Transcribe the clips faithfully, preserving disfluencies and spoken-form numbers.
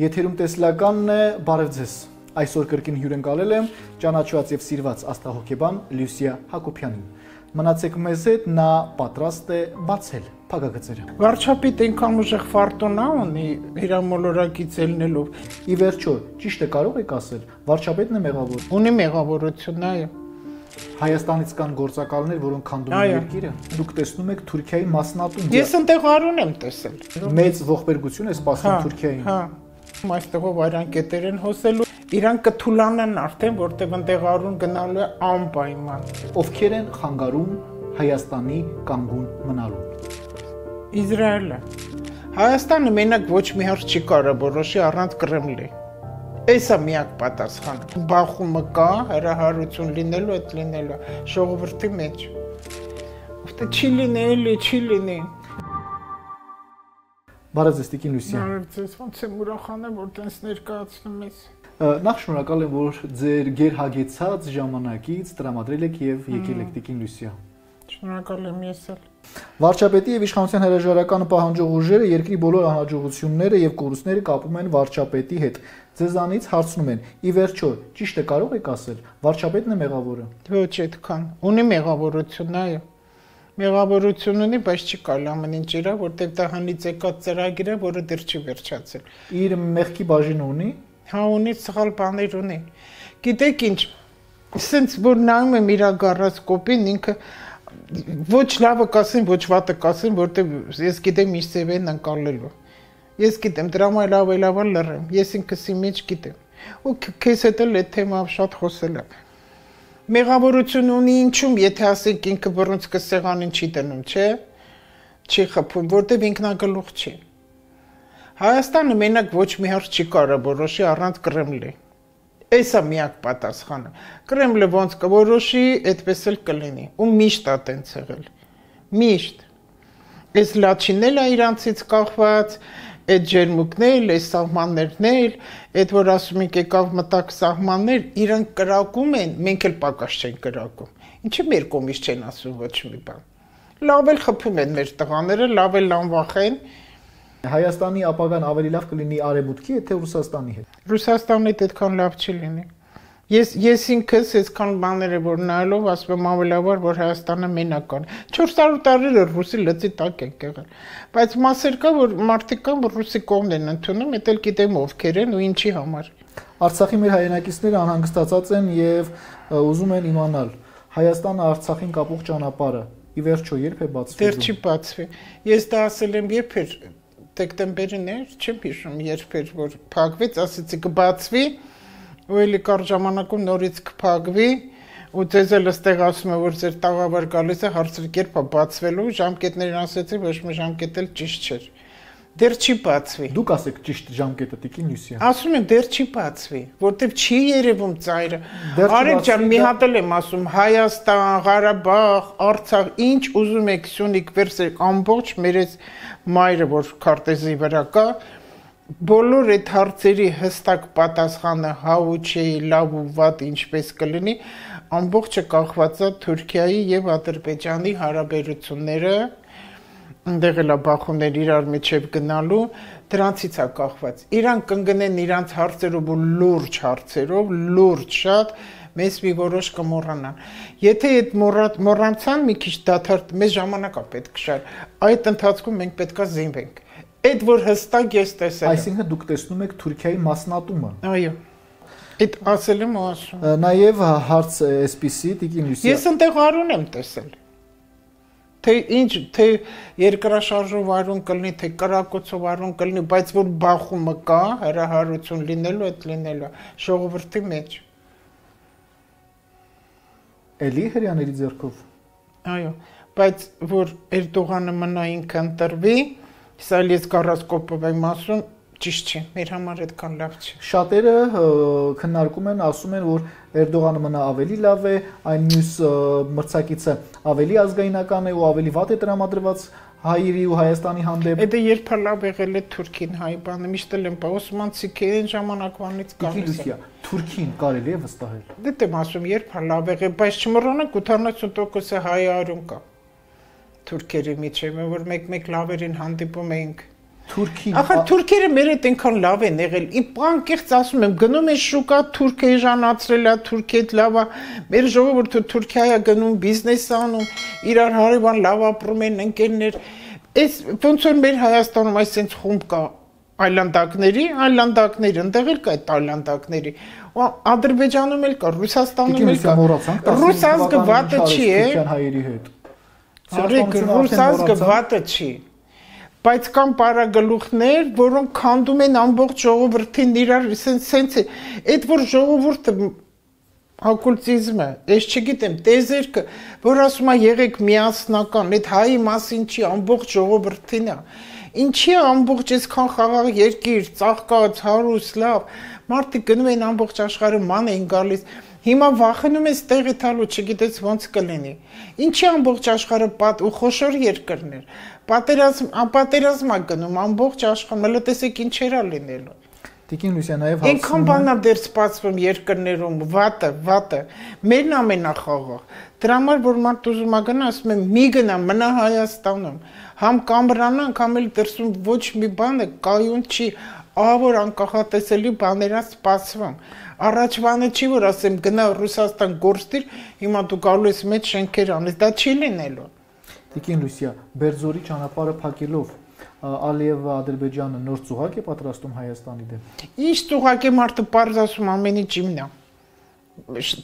Եթերում տեսլականն է, բարև ձեզ։ Այսօր կրկին հյուրընկալել եմ ճանաչված եւ սիրված աստղահոգեբան Լյուսիա Հակոբյանին։ Մնացեք մեզ հետ, նա պատրաստ է բացել փակագծերը։ Վարչապետ այնքան ուժեղ ֆարտունա ունի իր մոլորակից ելնելով։ Ի վերջո, ճիշտ է կարող եք ասել, վարչապետն է մեղավոր։ Ունի մեղավորություն, այո։ Հայաստանից կան գործակալներ, որոնք քանդում են երկիրը։ Դուք տեսնում եք Թուրքիայի մասնատում։ Ես այնտեղ արուն եմ տեսել։ Մեծ ողբերգություն է սպասում Թուրքիային։ Հա։ Այստեղով այրան կետեր են հոսելու, իրան կթուլանան արդեն, որտեղ այնտեղ արուն գնալու է անպայման։ Ովքեր են խանգարում Հայաստանի կանգուն մնալու։ Իսրայելը։ Հայաստանը մենակ ոչ մի հարց չի կարող որոշի առանց Կրեմլի։ Էսա միակ պատասխանը։ Բախումը կա, հրահարություն լինելու, այդ լինելու ժողովրդի մեջ։ Ովքեր չի լինի, չի լինի։ Բարև ձեզ, Տիկին Լյուսիա։ Բարև ձեզ, ոնց եմ ուրախանում, որ տենց ներկայացնում ես։ Նախ շնորհակալ եմ, որ ձեր գերհագեցած ժամանակից տրամադրել եք եւ եկել եք Տիկին Լյուսիա։ Շնորհակալ եմ ես էլ։ Վարչապետի եւ իշխանության հրաժարականը պահանջող ուժերը երկրի բոլոր անհաջողությունները եւ կորուստները կապում են վարչապետի հետ։ Ձեզանից հարցնում են. ի վերջո, ճիշտ է կարող եք ասել, վարչապետն է մեղավորը։ Ոչ այդքան։ Ունի մեղավորություն, այո։ Մեղավորություն ունի, բայց չի կարելի ամեն ինչ իրա, որտեղ դա հնից եկած ծրագիր է, որը դեռ չի վերջացել։ Իր մեղքի բաժինը ունի։ Հա, ունի սխալ բաներ ունի։ Գիտեք ինչ, սենց որ նայում եմ իր գարասկոպին, ինքը ոչ լավը կասեն, ոչ վատը կասեն, որտեղ ես գիտեմ իր սեվեն անցալելու։ Ես գիտեմ, դրա համար լավ է լավ լռեմ։ Ես ինքս իմ մեջ գիտեմ։ Ու քեզ հետ էլ այդ թեմայով շատ խոսել եմ։ Մեղավորություն ունի ինչում, եթե ասենք ինքը բռունցքը սեղանին չի դնում, չէ՞։ Չի խփում, որտեղ ինքնագլուխ չի։ Հայաստանը մենակ ոչ մի հարց չի կարող որոշի առանց Կրեմլի։ Էսա միակ պատասխանը։ Կրեմլը ոնց կորոշի, այդպես էլ կլինի։ Ու միշտ է տենց եղել։ Միշտ։ Այս լաչինն է իրանցից կախված, այդ ջերմուկներ, այս սահմաններն էլ, այդ որ ասում ենք եկավ մտակ սահմաններ, իրանք կրակում են, մենք էլ պակաս չենք կրակում։ Ինչի մեր կողմից չեն ասում ոչ մի բան։ Լավ էլ խփում են մեր տղաները, լավ էլ անվախեն։ Հայաստանի ապագան ավելի լավ կլինի Արևմուտքի, թե Ռուսաստանի հետ։ Ռուսաստանի հետ այդքան լավ չի լինի։ Ես ես ինքս այսքան բաները որ նայելով ասում եմ ավելավոր որ Հայաստանը մենակ է։ չորս հարյուր տարի ռուսի լծի տակ են եղել։ Բայց մասեր կա որ մարդիկ կան որ ռուսի կողմն են ընդունում, դա էլ գիտեմ ովքեր են ու ինչի համար։ Արցախի մեր հայրենակիցները անհանգստացած են եւ ուզում են իմանալ Հայաստանը Արցախին կապող ճանապարհը ի վերջո երբ է բացվի։ Դեռ չի բացվի։ Ես դա ասել եմ երբ էր դեկտեմբերին էր, չեմ հիշում երբ էր որ փակվեց, ասեցի կբացվի ու էլի կար ժամանակում նորից կփակվի ու ձեզ էլ ըստեղ ասում եմ որ ձեր տաղավար գալիս է հարցրի երբ է բացվելու ժամկետներն ասեցի ոչ մի ժամկետ էլ ճիշտ չէր դեռ չի բացվի դուք ասեք ճիշտ ժամկետը Տիկին Լյուսիա ասում եմ դեռ չի բացվի որտեվ չի երևում ծայրը արեք ջան մի հատ էլ եմ ասում Հայաստան, Ղարաբաղ, Արցախ ինչ ուզում եք Սյունիք վերսեք ամբողջ մեր այս մայրը որ քարտեզի վրա կա բոլոր այդ հարցերի հստակ պատասխանը հա ու չէ, լավ ու վատ ինչպես կլինի, ամբողջը կախված է Թուրքիայի եւ Ադրբեջանի հարաբերությունները, այնտեղ էլ բախումներ իրար միջև գնալու, դրանցից է կախված։ Իրանք կընկնեն իրանց հարցերով ու լուրջ հարցերով, լուրջ շատ, մեզ մի որոշ կմոռանան։ Եթե այդ մոռանցան մի քիչ դադար, մեզ ժամանակ է պետք շար, այդ ընթացքում մենք պետքա զինվենք։ Այդ որ հստակ ես տեսել եմ։ Այսինքն դուք տեսնում եք Թուրքիայի մասնատումը։ Այո։ Այդ ասել եմ ու ասում։ Նաև հարց էսպիսի Տիկին Լյուսիա։ Ես այնտեղ արուն եմ տեսել։ Թե ինչ, թե երկրաշարժով արուն կլինի, թե կրակոցով արուն կլինի, բայց որ բախումը կա, հրահարություն լինելու, այդ լինելու ժողովրդի մեջ։ Էլի հрьяաների ձեռքով։ Այո, բայց որ Էրդողանը մնա ինքը ընտրվի, սա ես գարասկոպով եմ ասում, ճիշտ չի, մեր համար այդքան լավ չի։ Շատերը քննարկում են, ասում են, որ Էրդողանը մնա ավելի լավ է, այն մյուս մրցակիցը ավելի ազգայնական է ու ավելի վատ է տրամադրված հայերի ու Հայաստանի հանդեպ։ Դա երբ լավ եղել է Թուրքին հայ բանը, միշտ էլ եմ պա Օսմանցիք այն ժամանակվանից գալիս է։ Թուրքին կարելի է վստահել։ Դե դեմ ասում, երբ լավ եղել, բայց չմոռանանք ութանասուն տոկոս հայ արուն կա։ Թուրքերի միջև, որ մեկ-մեկ լավերին հանդիպում էինք։ Թուրքի Ախր թուրքերը մեր հետ այնքան լավ են եղել։ Իմ անկեղծ ասում եմ, գնում են շուկա, թուրք էժանացրել է, թուրք հետ լավ է։ Մեր ժողովուրդը Թուրքիա է գնում, բիզնես անում, իրար հարևան լավ ապրում են, ընկերներ։ Այս ոնց որ մեր Հայաստանում այսպես խումբ կա այլանդակների, այլանդակներ, ընդեղ էլ կա այդ այլանդակների։ Ադրբեջանում էլ կա, Ռուսաստանում էլ կա։ Ռուս ազգը վատը չի, է։ Հայերի հետ։ Ռուս ազգը վատը չի։ Բայց կան պարագլուխներ, որոնք քանդում են ամբողջ ժողովրդին իրար, սենց է, այդ որ ժողովուրդը օկուլտիզմը, ես չգիտեմ, տեզերքը, որ ասում է եղեք միասնական, այդ հայի մասին չի, ամբողջ ժողովրդին է։ Ինչի է ամբողջ այսքան խաղաղ երկիր, ծաղկած, հարուստ, լավ, մարդիկ գնում են ամբողջ աշխարհը ման են գալիս։ Հիմա վախենում ես տեղի տալու, չգիտես ոնց կլինի։ Ինչի ամբողջ աշխարհը պատ ու խոշոր երկրներ։ Պատերազմ, անպատերազմ է գնում ամբողջ աշխարհը, մելը տեսեք ինչեր է լինելու։ Տիկին Լուսիա նաև Այնքան բան է դեռ սպասվում երկրներում, վատը, վատը։ Մերն ամենախաղաղ։ Դրա համար որ մարդ ուզում է գնա, ասում եմ՝ մի գնա, մնա Հայաստանում։ Համ կամրանանք, համ էլ դրսում ոչ մի բանը կայուն չի, ահավոր անկախատեսելի բաներ է սպասվում։ Առաջվանը չի որ ասեմ գնա Ռուսաստան գործիր, հիմա դու գալու ես մեծ շենքեր անես, դա չի լինելու։ Տիկին Լուսիա, Բերձորի ճանապարհը փակելով Ալիևը Ադրբեջանը նոր ծուղակ է պատրաստում Հայաստանի դեմ։ Ինչ ծուղակ է մարդը պարզ ասում ամեն ինչ իմն է։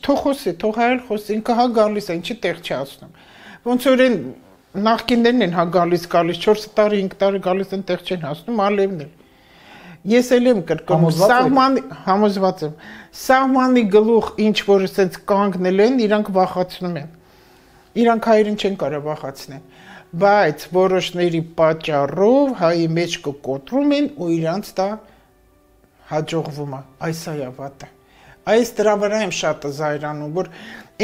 Թող խոսի, թող հայել խոսի, ինքը հա գալիս է, ինչի տեղ չի ասում։ Ոնց որ են նախկիններն են հա գալիս, գալիս չորս տարի, հինգ տարի գալիս են տեղ չեն հասնում, Ալիևն էլ։ Ես էլ եմ կրկնում, սահմանի համոզված եմ, սահմանի գլուխ ինչ որ ասենց կանգնել են, իրանք վախացնում են։ Իրանք հայերին չեն կարող վախացնել, բայց որոշների պատճառով հայի մեջ կկոտրում են ու իրանց դա հաջողվում է, այս է վատը։ Այս դրա վրա եմ շատ զայրանում, որ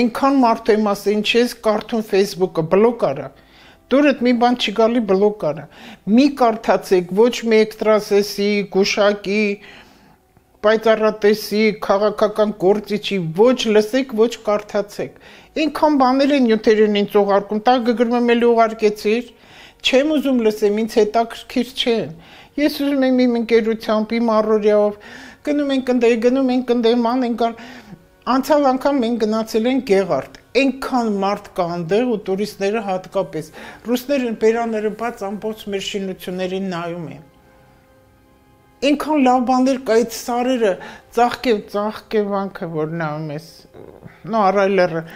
այնքան մարդու եմ ասել, ինչ ես կարդում Facebook-ը, բլոկ արա։ Դուրդ մի բան չի գալի բլոկ արա։ Մի կարդացեք, ոչ մի էքստրասեսի, գուշակի, պայծառատեսի, քաղաքական գործիչի, ոչ լսեք, ոչ կարդացեք։ Այնքան բաներ են նյութերին ինձ ուղարկում, տա գրում եմ էլի ուղարկեցիր, չեմ ուզում լսեմ, ինձ հետաքրքիր չեն։ Ես ուզում եմ իմ ընկերությամբ, իմ առօրյայով, գնում ենք ընդ, գնում ենք ընդ, ման ենք գալ։ Անցյալ անգամ մենք գնացել ենք Գեղարդ, այնքան մարդ կա այնտեղ ու տուրիստները հատկապես, ռուսները բերանները բաց ամբողջ մեր շինություններին նայում են։ Այնքան լավ բաներ կա այդ սարերը, ծաղկե, ծաղկե վանքը, որ նայում ես, նո առայլերը,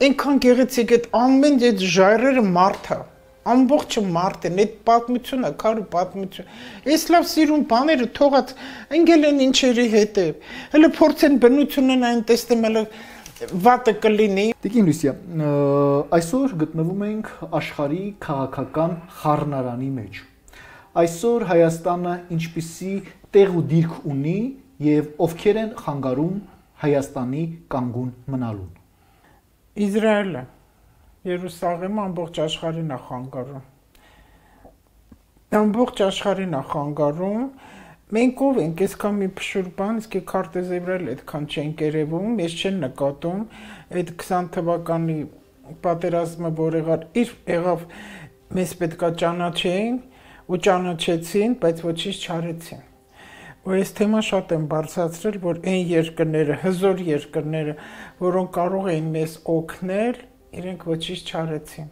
այնքան գեղեցիկ այդ ամեն այդ ժայռերը մարդ է, ամբողջը մարդ են, այդ պատմությունը, քարու պատմություն, այս լավ սիրուն բաները թողած ընկել են ինչերի հետև, հələ փորձեն բնությունն այն տեսնեմ, հələ վատը կլինի։ Տիկին Լուսիա, այսօր գտնվում ենք աշխարհի քաղաքական խառնարանի մեջ։ Այսօր Հայաստանը ինչպիսի տեղ ու դիրք ունի եւ ովքեր են խանգարում Հայաստանի կանգուն մնալուն։ Իսրայելը, Երուսաղեմը ամբողջ աշխարհին է խանգարում։ Ամբողջ աշխարհին է խանգարում։ Մենք ով ենք, այսքան մի փշուր բան, իսկ քարտեզեվրել այդքան չենք երևում, ես չեն նկատում, այդ քսան թվականի պատերազմը, որ եղավ, իր եղավ, մեզ պետքա ճանաչեին ու ճանաչեցին, բայց ոչինչ չարեցին։ Ու այս թեմա շատ եմ բարձրացրել, որ այն երկրները, հզոր երկրները, որոնք կարող էին մեզ օգնել, իրենք ոչինչ չարեցին։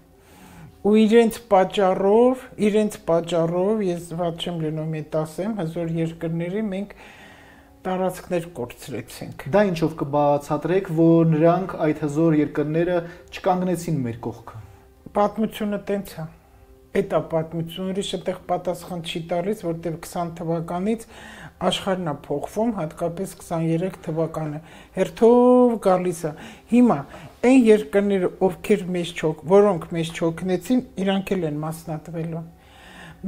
Ու իրենց պատճառով, իրենց պատճառով, ես ված չեմ լինում այդ ասեմ, հզոր երկրների մենք տարածքներ կորցրեցինք։ Դա ինչով կբացատրեք, որ նրանք այդ հզոր երկրները չկանգնեցին մեր կողքը։ Պատմությունը տենց է։ Այդ է պատմությունը, ուրիշ այդտեղ պատասխան չի տալիս, որտեղ քսան թվականից աշխարհն է փոխվում, հատկապես քսաներեք թվականը։ Հերթով գալիս է։ Հիմա այն երկրները, ովքեր մեզ չոք, որոնք մեզ չօգնեցին, իրանք էլ են մասնատվելու։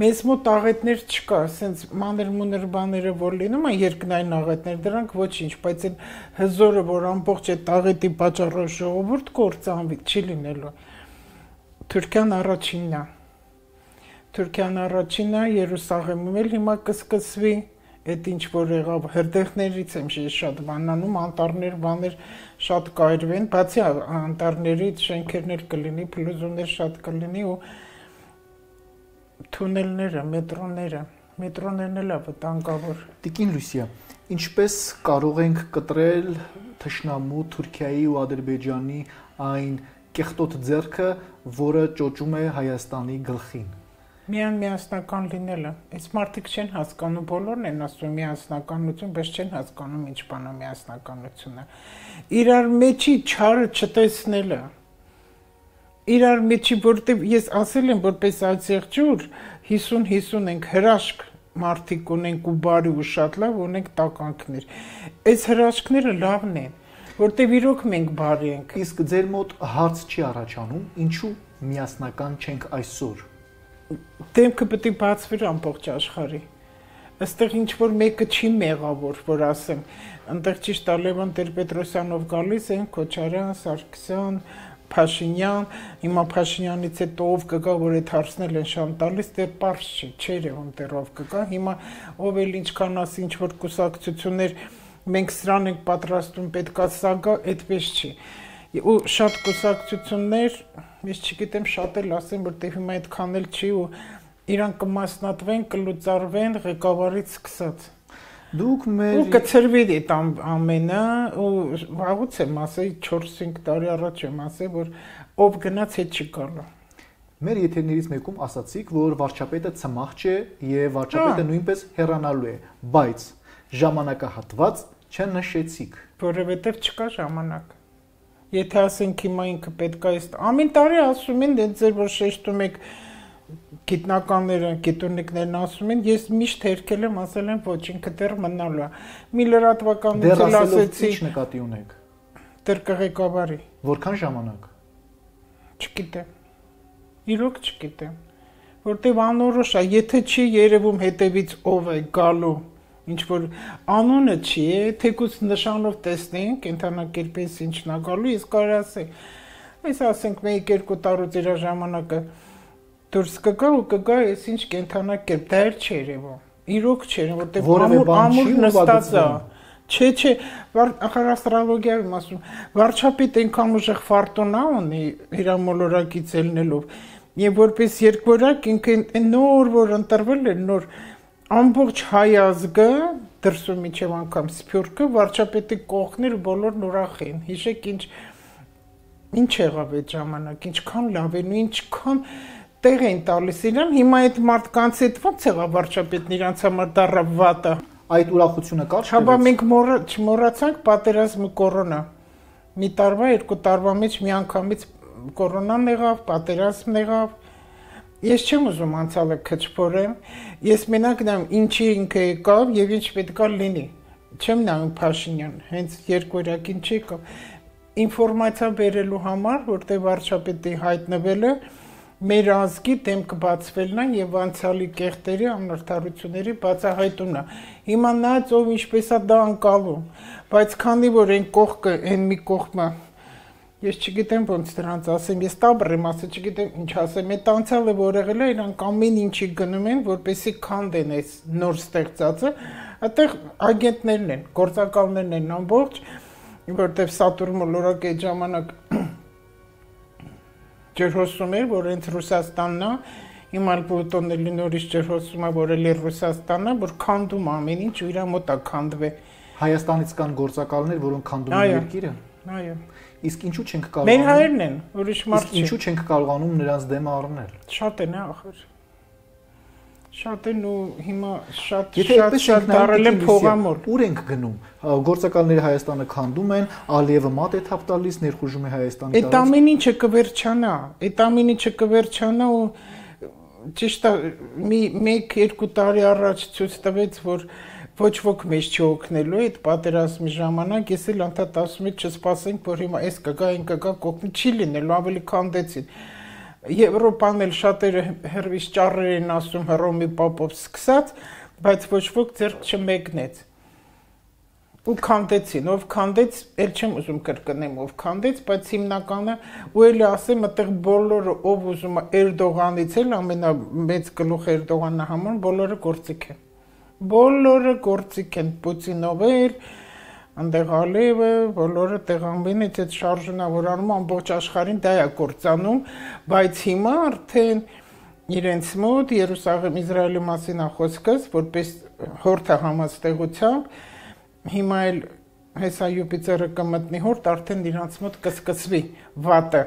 Մեզ մոտ աղետներ չկա, ասենց մանր-մունր բաները որ լինում են երկնային աղետներ, դրանք ոչինչ, բայց այն հզորը, որ ամբողջ այդ աղետի պատճառով ժողովուրդ կործանվի, չի լինելու։ Թուրքիան առաջինն է։ Թուրքիան առաջինն է, Երուսաղեմում էլ հիմա կսկսվի, այդ ինչ որ եղավ, հրդեհներից եմ շատ բանանում, անտառներ, բաներ շատ կայրվեն, բացի անտառներից շենքերն էլ կլինի, փլուզումներ շատ կլինի ու թունելները, մետրոները, Մետրոներն էլ վտանգավոր։ Տիկին Լուսիա, ինչպես կարող ենք կտրել թշնամու Թուրքիայի ու Ադրբեջանի այն կեղտոտ ձեռքը, որը ճոճում է Հայաստանի գլխին։ Միան միասնական լինելը։ Այս մարդիկ չեն հասկանում, բոլորն են ասում միասնականություն, բայց չեն հասկանում ինչ բան է միասնականությունը։ Իրար մեջի չարը չտեսնելը։ Իրար մեջի, որտեղ ես ասել եմ, որպես այցեղջուր հիսուն հիսուն ենք հրաշք մարդիկ ունենք ու բարի ու շատ լավ ունենք տականքներ։ Այս հրաշքները լավն են, որտեղ իրոք մենք բարի ենք։ Իսկ ձեր մոտ հարց չի առաջանում, ինչու միասնական չենք այսօր։ Դեմքը պետք է բացվի ամբողջ աշխարհի։ Այստեղ ինչ որ մեկը չի մեղավոր, որ ասեմ, այնտեղ ճիշտ է Լևոն Տեր-Պետրոսյանով գալիս են, Քոչարյան, Սարգսյան, Փաշինյան, հիմա Փաշինյանից հետո ով կգա, որ այդ հարցնել են շան տալիս, դեռ պարզ չի, չէր եղում դեռ ով կգա, հիմա ով էլ ինչքան ասի ինչ որ կուսակցություններ, մենք սրան ենք պատրաստում, պետքա սա գա, այդպես չի։ Ու շատ կուսակցություններ, ես չգիտեմ շատ էլ ասեմ, որտեղ հիմա այդքան էլ չի ու իրան կմասնատվեն, կլուծարվեն ղեկավարից սկսած։ Դուք մեր ու կծրվի այդ ամենը ու վաղուց եմ ասել չորս-հինգ տարի առաջ եմ ասել, որ ով գնաց հետ չի գալու։ Մեր եթերներից մեկում ասացիք, որ վարչապետը ցմահ չէ եւ վարչապետը նույնպես հեռանալու է, բայց ժամանակահատված չնշեցիք, որովհետեւ չկա ժամանակ։ Եթե ասենք հիմա ինքը պետք է ամեն տարի ասում են, դե ձեր որ շեշտում եք գիտնականները, գիտունիկներն ասում են, ես միշտ հերքել եմ, ասել եմ ոչ, ինքը դեռ մնալու է։ Մի լրատվականություն ասեցի։ Ինչ նկատի ունեք։ Դեռ կղեկավարի։ Որքան ժամանակ։ Չգիտեմ։ Իրոք չգիտեմ։ Որտեւ անորոշ է, եթե չի երևում հետևից ով է գալու, ինչ որ անունը չի, թեկուզ նշանով տեսնենք, կենթանակերպից ինչն է գալու, ես կարող ասեմ։ Այս ասենք մեկ-երկու տարուց իր ժամանակը դուրս կգա ու կգա այս ինչ կենթանակերպ, դա էլ չի երևում։ Իրոք չի, որտեղ ամուր ամուր նստած է։ Չէ, չէ, ախր աստրոլոգիայում եմ ասում, վարչապետ այնքան ուժեղ ֆարտունա ունի իր մոլորակից ելնելով, եւ որպես երկվորակ ինքը նոր որ ընտրվել է, նոր ամբողջ հայ ազգը դրսում միջև անգամ սփյուռքը վարչապետի կողքներ բոլորն ուրախ են։ Հիշեք ինչ ինչ եղավ այդ ժամանակ, ինչքան լավ են ու ինչքան տեղ են տալիս իրան, հիմա այդ մարդկանց հետ ո՞նց եղավ վարչապետն իրանց համար դառավ վատը։ Այդ ուրախությունը կա՞, Հաբա մենք չմոռացանք պատերազմը կորոնա։ Մի տարվա, երկու տարվա մեջ մի անգամից կորոնան եղավ, պատերազմն եղավ։ Ես չեմ ուզում անցյալը քչփորեմ, ես մենակ նայում ինչի ինքը եկավ եւ ինչ պետքա լինի։ Չեմ նայում Փաշինյան, հենց երկորակին չի եկավ։ Ինֆորմացիա բերելու համար, որտեղ վարչապետի հայտնվելը մեր ազգի դեմքը բացվելն է եւ անցյալի կեղտերի անարդարությունների բացահայտումն է։ Հիմա նայած ով ինչպես է դա անկալում, բայց քանի որ այն կողքը, այն մի կողմը ես չգիտեմ ոնց դրանց ասեմ, ես տաբր եմ ասել, չգիտեմ ինչ ասեմ, այդ անցյալը որ եղել է, իրանք ամեն ինչի գնում են, որպեսզի քանդեն այս նոր ստեղծածը, այդտեղ ագենտներն են, գործակալներն են ամբողջ, որտեղ Սատուրն մոլորակ այդ ժամանակ ջրհոսում էր, որ հենց Ռուսաստանն է, հիմա Պլուտոնն էլի նորից ջրհոսում է, որ էլի Ռուսաստանն է, որ քանդում ամեն ինչ ու իր մոտ է քանդվե։ Հայաստանից կան գործակալներ, որոնք քանդում են երկիրը։ Այո։ Իսկ ինչու չենք կարողանում։ Մեր հայերն են, ուրիշ մարդ չի։ Ինչու չենք կարողանում նրանց դեմը առնել։ Շատ են, ախր։ Շատ են ու հիմա շատ շատ շատ դարել են փողամոր։ Ուր ենք գնում։ Գործակալները Հայաստանը քանդում են, Ալիևը մատ է թափ տալիս, ներխուժում է Հայաստանի տարածք։ Այդ ամեն ինչը կվերջանա, այդ ամեն ինչը կվերջանա ու ճիշտ է մի մեկ-երկու տարի առաջ ցույց տվեց, որ ոչ ոք մեզ չօգնելու այդ պատերազմի ժամանակ, ես էլ անդադ ասում եմ չսպասենք, որ հիմա այս կգա, այն կգա, կօգնի չի լինելու, ավելի քանդեցին։ Եվրոպան էլ շատերը հերվից ճառեր են ասում Հռոմի Պապով սկսած, բայց ոչ ոք ձեռք չմեկնեց։ Ու քանդեցին, ով քանդեց, էլ չեմ ուզում կրկնեմ, ով քանդեց, բայց հիմնականը ու էլի ասեմ, այդտեղ բոլորը ով ուզում է Էրդողանից էլ ամենամեծ գլուխ Էրդողանն համար, բոլորը գործիք են։ Բոլորը գործիք են, Պուտինով էլ, այնտեղ Ալիևը, բոլորը տեղանվին այդ շարժունավորանում ամբողջ աշխարհին դա է կործանում, բայց հիմա արդեն իրենց մոտ Երուսաղեմ Իսրայելի մասին է խոսքս, որպես հորթը համաստեղությամբ, հիմա էլ հեսա Յուպիտերը կմտնի հորթ, արդեն իրանց մոտ կսկսվի վատը։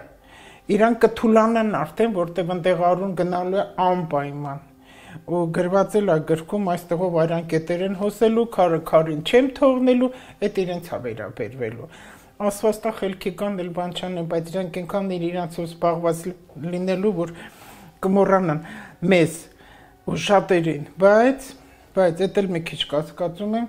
Իրան կթուլանան արդեն, որտեղ ընդեղ արուն գնալու է անպայման։ Ու գրված էլ է գրքում այստեղով արյան կետեր են հոսելու, քարը քարին չեմ թողնելու, այդ իրենց է վերաբերվելու։ Ասվածտա խելքի կան էլ բան չան, բայց իրանք այնքան իրանցով զբաղված լինելու, որ կմոռանան մեզ ու շատերին, բայց բայց դա էլ մի քիչ կասկածում եմ,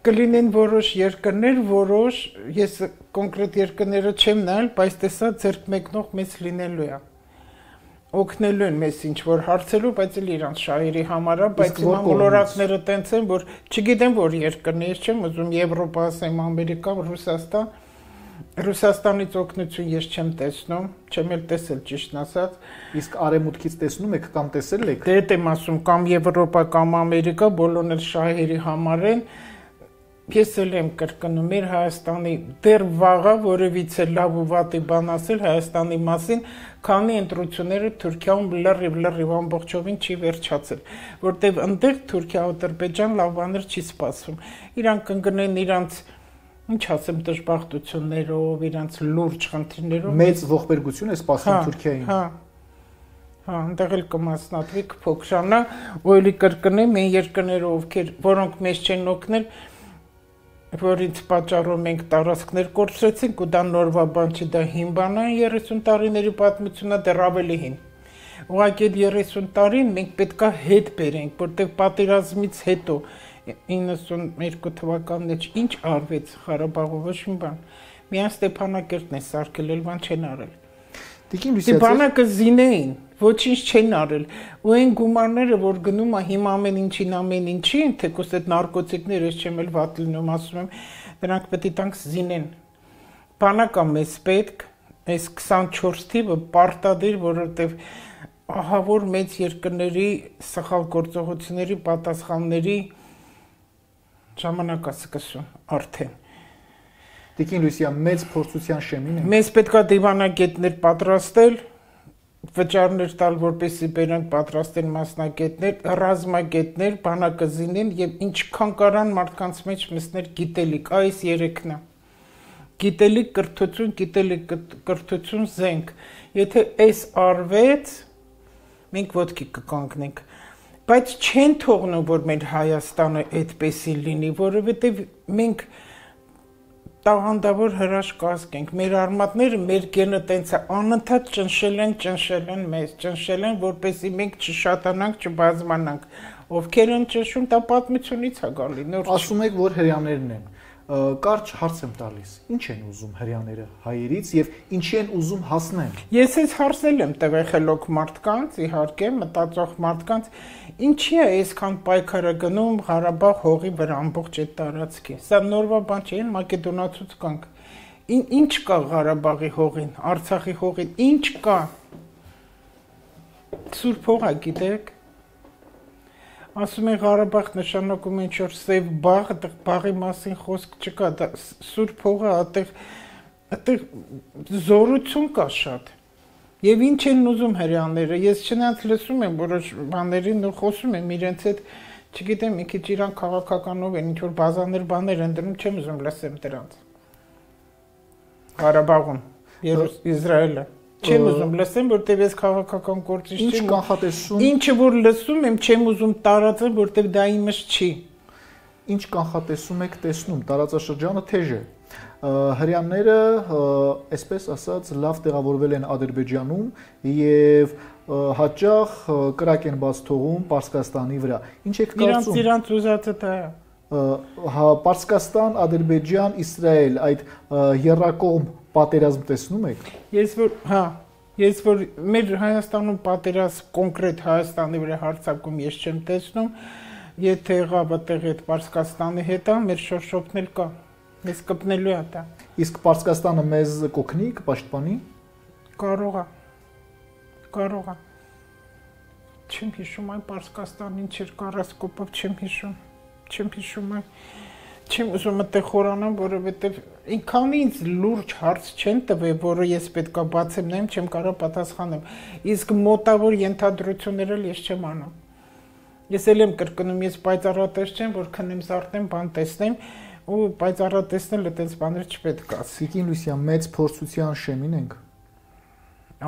կլինեն որոշ երկրներ, որոշ ես կոնկրետ երկրները չեմ նայել, բայց տեսա ձեռք մեկնող մեզ լինելու է։ Օգնելու են մեզ ինչ որ հարցելու, բայց էլ իրանց շահերի համար է, բայց հիմա մոլորակները տենց են, որ չգիտեմ որ երկրներ, ես չեմ ուզում Եվրոպա ասեմ, Ամերիկա, Ռուսաստան, Ռուսաստանից օգնություն ես չեմ տեսնում, չեմ էլ տեսել ճիշտն ասած։ Իսկ արևմուտքից տեսնում եք կամ տեսել եք։ Դե դեմ ասում կամ Եվրոպա կամ Ամերիկա, բոլորն էլ շահերի համար են։ Ես էլ եմ կրկնում, մեր Հայաստանի դեռ վաղը որևիցե լավ ու վատի բան ասել Հայաստանի մասին, քանի ընտրությունները Թուրքիայում լրիվ լրիվ ամբողջովին չի վերջացել, որտեղ այնտեղ Թուրքիա ու Ադրբեջան լավ բաներ չի սպասում։ Իրանք կընկնեն իրանց, ինչ ասեմ, դժբախտություններով, իրանց լուրջ խնդիրներով։ Մեծ ողբերգություն է սպասում Թուրքիային։ Հա։ Հա, այնտեղ էլ կմասնատվի կփոքրանա, ու էլի կրկնեմ, մեր երկրները ովքեր, որոնք մեզ չեն օգնել, որ ինձ պատճառով մենք տարածքներ կորցրեցինք ու դա նորվա բան չի, դա հին բան է, երեսուն տարիների պատմությունը դեռ ավելի հին։ Ուղղակի այդ երեսուն տարին մենք պետքա հետ բերենք, որտեղ պատերազմից հետո իննսուններկու թվականն մեջ ինչ արվեց Ղարաբաղում, ոչ մի բան։ Միայն Ստեփանակերտն է սարքել, էլ բան չեն արել։ Տիկին Լուսիա, բանակը զինեին, ոչինչ չեն արել, ու այն գումարները, որ գնում է հիմա ամեն ինչին ամեն ինչին, թեկուզ այդ նարկոտիկները ես չեմ էլ վատ լինում, ասում եմ, դրանք պետք է տանք զինեն։ Բանակը մեզ պետք, այս քսանչորս թիվը պարտադիր, որովհետև ահա որ մեծ երկրների սխալ գործողությունների պատասխանների ժամանակ է սկսում արդեն։ Տիկին Լուսիա, մեծ փորձության շեմին է։ Մեզ պետքա դիվանագետներ պատրաստել, վճարներ տալ, որպեսզի բերանք պատրաստեն մասնագետներ, ռազմագետներ, բանակը զինեն եւ ինչքան կարան մարդկանց մեջ մտցնել գիտելիք, այս երեքն է։ Գիտելիք, կրթություն, գիտելիք, կրթություն, զենք։ Եթե այս արվեց, մենք ոտքի կկանգնենք։ Բայց չեն թողնում, որ մեր Հայաստանը այդպեսի լինի, որովհետեւ մենք տաղանդավոր հրաշքազգ ենք, մեր արմատները, մեր գենը տենց է, անընդհատ ճնշել են, ճնշել են մեզ, ճնշել են, որպեսզի մենք չշատանանք, չբազմանանք, ովքեր են ճնշում, դա պատմությունից է գալի, նոր չի։ Ասում եք, որ հрьяաներն են, կարճ հարց եմ տալիս, ինչ են ուզում հрьяաները հայերից եւ ինչի են ուզում հասնել։ Ես այս հարցել եմ տվեխելոք մարդկանց, իհարկե, մտածող մարդկանց, ինչի է այսքան պայքարը գնում Ղարաբաղ հողի վրա ամբողջ այդ տարածքի։ Սա նորվա բան չէ, մակեդոնացուց կանք։ Ինչ կա Ղարաբաղի հողին, Արցախի հողին, ինչ կա։ Սուրբ հող է, գիտեք։ Ասում են Ղարաբաղ նշանակում է ինչ-որ սև բաղ, այդտեղ բաղի մասին խոսք չկա, դա սուրբ հող է, այդտեղ այդտեղ զորություն կա շատ։ Եվ ինչ են ուզում հрьяաները, ես չնայած լսում եմ որոշ բաներին ու խոսում եմ իրենց հետ, չգիտեմ, մի քիչ իրան քաղաքականով են, ինչ-որ բազաներ բաներ են դնում, չեմ ուզում լսեմ դրանց։ Ղարաբաղում, Իսրայելը։ Չեմ ուզում լսեմ, որտեղ ես քաղաքական գործիչ չեմ։ Ինչ կանխատեսում։ Ինչը որ լսում եմ, չեմ ուզում տարածել, որտեղ դա իմս չի։ Ինչ կանխատեսում եք տեսնում, տարածաշրջանը թեժ է։ Հрьяաները, այսպես ասած, լավ տեղավորվել են Ադրբեջանում եւ հաճախ կրակ են բաց թողում Պարսկաստանի վրա։ Ինչ եք կարծում։ Իրանց իրանց ուզածը դա է։ Հա, Պարսկաստան, Ադրբեջան, Իսրայել, այդ երրակողմ պատերազմ տեսնում եք։ Ես որ, հա, ես որ մեր Հայաստանում պատերազմ կոնկրետ Հայաստանի վրա հարձակում ես չեմ տեսնում, եթե եղավ այդտեղ այդ Պարսկաստանի հետ, մեր շոշոփն էլ կա։ Մեզ կպնելու է դա։ Իսկ Պարսկաստանը մեզ կօգնի, կպաշտպանի։ Կարող է։ Կարող է։ Չեմ հիշում այն Պարսկաստանին չէր կարասկոպով չեմ հիշում։ Չեմ հիշում այն։ Չեմ ուզում այդտեղ խորանամ, որովհետև ինքան ինձ լուրջ հարց չեն տվել, որը ես պետքա բացեմ, նայեմ, չեմ կարող պատասխանեմ։ Իսկ մոտավոր ենթադրություններ էլ ես չեմ անում։ Ես էլ եմ կրկնում, ես պայծառատես չեմ, որ քնեմ զարթնեմ, բան տեսնեմ, ու պայծառատեսնել այդպես բաներ չպետք է։ Տիկին Լուսիա, մեծ փորձության շեմին ենք։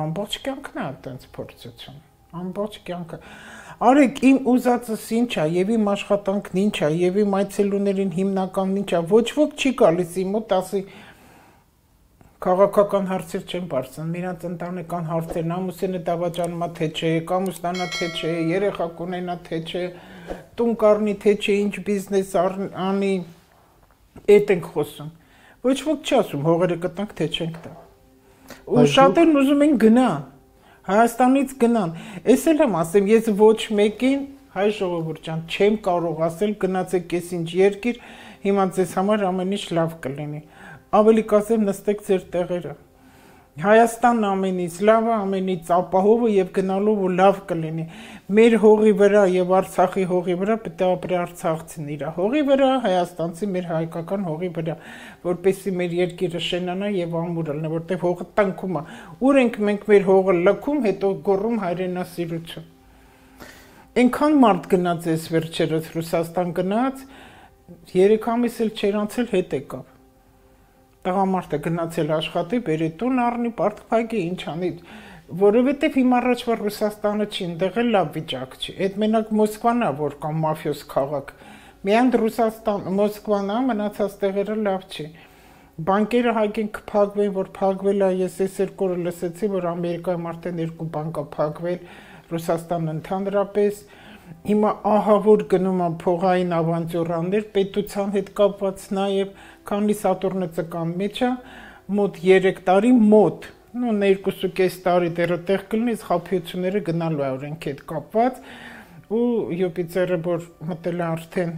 Ամբողջ կյանքն է այդպես փորձություն։ Ամբողջ կյանքը։ Արեք, իմ ուզածս ինչ է, եւ իմ աշխատանքն ինչ է, եւ իմ այցելուներին հիմնականն ինչ է, ոչ ոք չի գալիս իմ մոտ, ասի քաղաքական հարցեր չեն բարձրանում, իրանց ընտանեկան հարցերն, ամուսինը դավաճանումա թե չէ, կամուստանա թե չէ, երեխա կունենա թե չէ, տուն կառնի թե չէ, ինչ բիզնես անի, այդ ենք խոսում։ Ոչ ոք չի ասում հողերը կտանք թե չենք տա։ Ու շատերն ուզում են գնան։ Հայաստանից գնան։ Ես էլ եմ ասեմ, ես ոչ մեկին, հայ ժողովուրդ ջան, չեմ կարող ասել գնացեք ես ինչ երկիր, հիմա ձեզ համար ամեն ինչ լավ կլինի։ Ավելի կասեմ նստեք ձեր տեղերը։ Հայաստանն ամենից լավը, ամենից ապահովը եւ գնալու ու լավ կլինի։ Մեր հողի վրա եւ Արցախի հողի վրա պետք է ապրի արցախցին իր հողի վրա, հայաստանցի մեր հայկական հողի վրա, որպեսզի մեր երկիրը շենանա եւ ամուր լինի, որտեղ հողը տնքում է։ Ուր ենք մենք մեր հողը լքում, հետո գոռում հայրենասիրություն։ Այնքան մարդ գնաց էս վերջերս Ռուսաստան գնաց, երեք ամիս էլ չեր անցել հետ եկավ։ Տղամարդը գնացել աշխատի, բերի տուն առնի, պարտքփակի, ինչ անի, որովհետև հիմա առաջվա Ռուսաստանը չի, այնտեղ էլ լավ վիճակ չի։ Այդ մենակ Մոսկվան է, որ կամ մաֆիոս քաղաք։ Միայն Ռուսաստան, Մոսկվան է, մնացած տեղերը լավ չի։ Բանկերը հայկեն կփակվեն, որ փակվել է, ես այս երկու օրը լսեցի, որ Ամերիկայում արդեն երկու բանկ է փակվել, Ռուսաստանն ընդհանրապես։ Հիմա ահա որ գնում է փողային ավանտյուրաներ, պետության հետ կապված նաև, քանի Սատուրնը ծկան մեջ է, մոտ երեք տարի մոտ, նո երկու կես տարի դեռ տեղ կլինի, խափիությունները գնալու է օրենքի հետ կապված, ու Յուպիտերը որ մտել է արդեն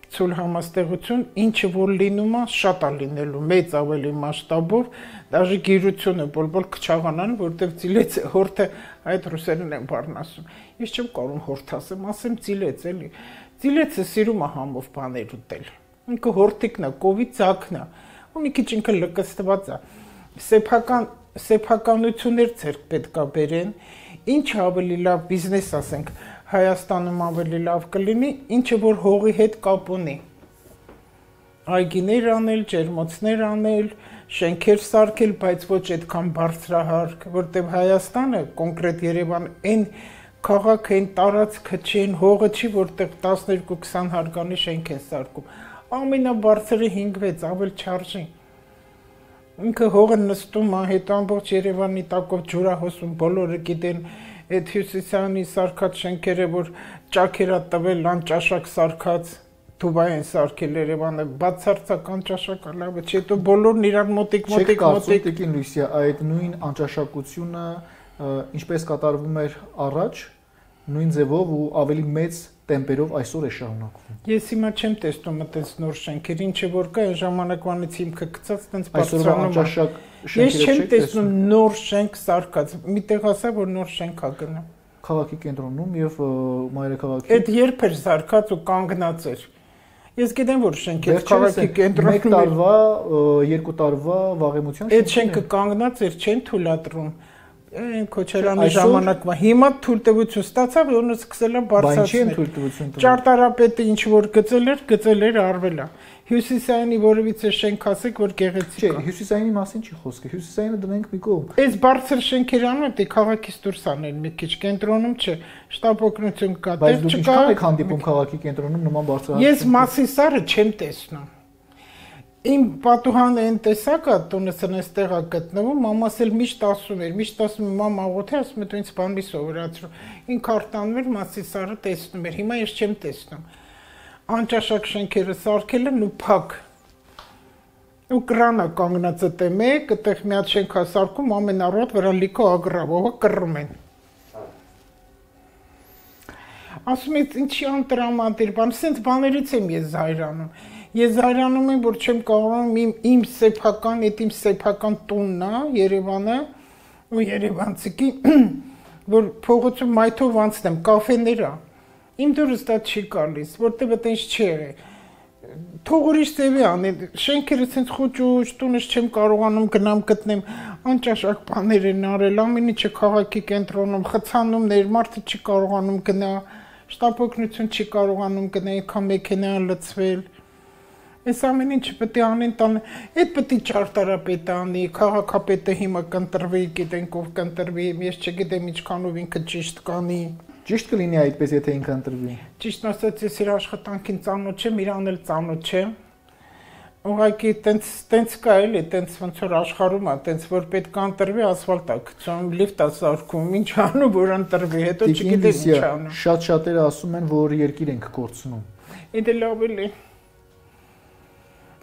ցույլ համաստեղություն, ինչը որ լինում է, շատ է լինելու, մեծ ավելի մասշտաբով, դաժե գիրությունը բոլբոլ կչաղանան, որտեղ ծիլեց հորթը այդ ռուսերեն են բառն ասում։ Ես չեմ կարող հորթ ասեմ, ասեմ ծիլեց էլի։ Ծիլեցը սիրում է համով բաներ ուտել։ Ինքը հորթիկն է, կովի ծակն է, ու մի քիչ ինքը լկստված է։ Սեփական սեփականություններ ցերկ պետքա բերեն, ինչ ավելի լավ բիզնես ասենք, Հայաստանում ավելի լավ կլինի, ինչը որ հողի հետ կապ ունի։ Այգիներ անել, ջերմոցներ անել, շենքեր սարքել, բայց ոչ այդքան բարձրահարկ, որտեղ Հայաստանը, կոնկրետ Երևան, այն քաղաքը, այն տարածքը չի, այն հողը չի, որտեղ տասներկու քսան հարկանի շենք են սարքում։ Ամենաբարձրը հինգ-վեց, ավել չարժի։ Ինքը հողը նստում է, հետո ամբողջ Երևանի տակով ջուրահոսում, բոլորը գիտեն այդ Հյուսիսյանի սարքած շենքերը, որ ճաքերա տվել անճաշակ սարքած, Դուբայ են սարքել Երևանը, բացարձակ անճաշակը լավը չէ, հետո բոլորն իրար մոտիկ մոտիկ մոտիկ։ Տիկին Լուսիա, այդ նույն անճաշակությունը ինչպես կատարվում էր առաջ, նույն ձևով ու ավելի մեծ տեմպերով այսօր է շարունակվում։ Ես հիմա չեմ տեսնում այդպես նոր շենքեր, ինչը որ կա, այն ժամանակվանից հիմքը գծած, այդպես բարձրանում է։ Ես չեմ տեսնում նոր շենք սարքած։ Միտեղ ասա, որ նոր շենք ա գնում։ Քաղաքի կենտրոնում եւ մայրաքաղաքի։ Այդ երբ էր սարքած ու կանգնած էր։ Ես գիտեմ, որ շենքեր քաղաքի կենտրոնում։ Մեկ տարվա, երկու տարվա վաղեմության շենքեր։ Այդ շենքը կանգնած էր, չեն թույլատրում։ Այն Քոչարյանի ժամանակվա հիմա թույլտվություն ստացավ, որոնը սկսել է բարձրացնել։ Բայց չի թույլտվություն տվել։ Ճարտարապետը ինչ որ գծել էր, գծել էր արվել է։ Հյուսիսայինի որևիցե շենք ասեք, որ գեղեցիկ է։ Չէ, Հյուսիսայինի մասին չի խոսքը։ Հյուսիսայինը դնենք մի կողմ։ Այս բարձր շենքեր անում դե քաղաքից դուրս անել մի քիչ կենտրոնում չէ։ Շտապ օգնություն կա, դեռ չկա։ Բայց դուք ինչքան եք հանդիպում քաղաքի կենտրոնում նման բարձր։ Ես Մասիսարը չեմ տեսնում։ Իմ պատուհանը այն տեսակա տունս այնտեղ է գտնվում, մամաս էլ միշտ ասում էր, միշտ ասում եմ մամա աղոթե, ասում եմ դու ինձ բան մի սովորացրու։ Ինքը արտանում էր Մասիսարը տեսնում էր, հիմա ես չեմ տեսնում։ Անճաշակ շենքերը սարքել են ու փակ։ Ու կրանը կանգնած է մեկ, այդտեղ մի հատ շենք է սարքում, ամեն առավոտ վրա լիքը ագրավողը կռում են։ Ասում եմ ինչի անտրամադիր բան, սենց բաներից եմ ես զայրանում։ Ես զայրանում եմ, որ չեմ կարողանում իմ, իմ սեփական, այդ իմ սեփական տունն է, Երևանը, ու երևանցիքի, որ փողոցում մայթով անցնեմ, կաֆեներ է։ Իմ դուրս դա չի գալիս, որտեղ այդպես չի եղել։ թող ուրիշ ծևի անի, շենքերը ցենց խոճուճ, տունս չեմ կարողանում գնամ գտնեմ, անճաշակ բաներ են արել, ամեն ինչը քաղաքի կենտրոնում, խցանումներ, մարդը չի կարողանում գնա, շտապօգնություն չի կարողանում գնա, այնքան մեքենա լցվել։ Այս ամեն ինչը պետք է անեն տան, այդ պետք է ճարտարապետը անի, քաղաքապետը հիմա կընտրվի, գիտենք ով կընտրվի, ես չգիտեմ ինչքանով ինքը ճիշտ կանի։ Ճիշտ կլինի այդպես, եթե ինքը ընտրվի։ Ճիշտ ասած, ես իր աշխատանքին ծանոթ չեմ, իրան էլ ծանոթ չեմ։ Ուղղակի տենց տենց կա էլի, տենց ոնց որ աշխարհում է, տենց որ պետք է ընտրվի, ասֆալտ է գցում, լիֆտ է սարքում, ինչ անում, որ ընտրվի, հետո չգիտեմ ինչ անում։ Շատ շատերը ասում են, որ երկիր ենք կորցնում։ Իդե լավ էլի։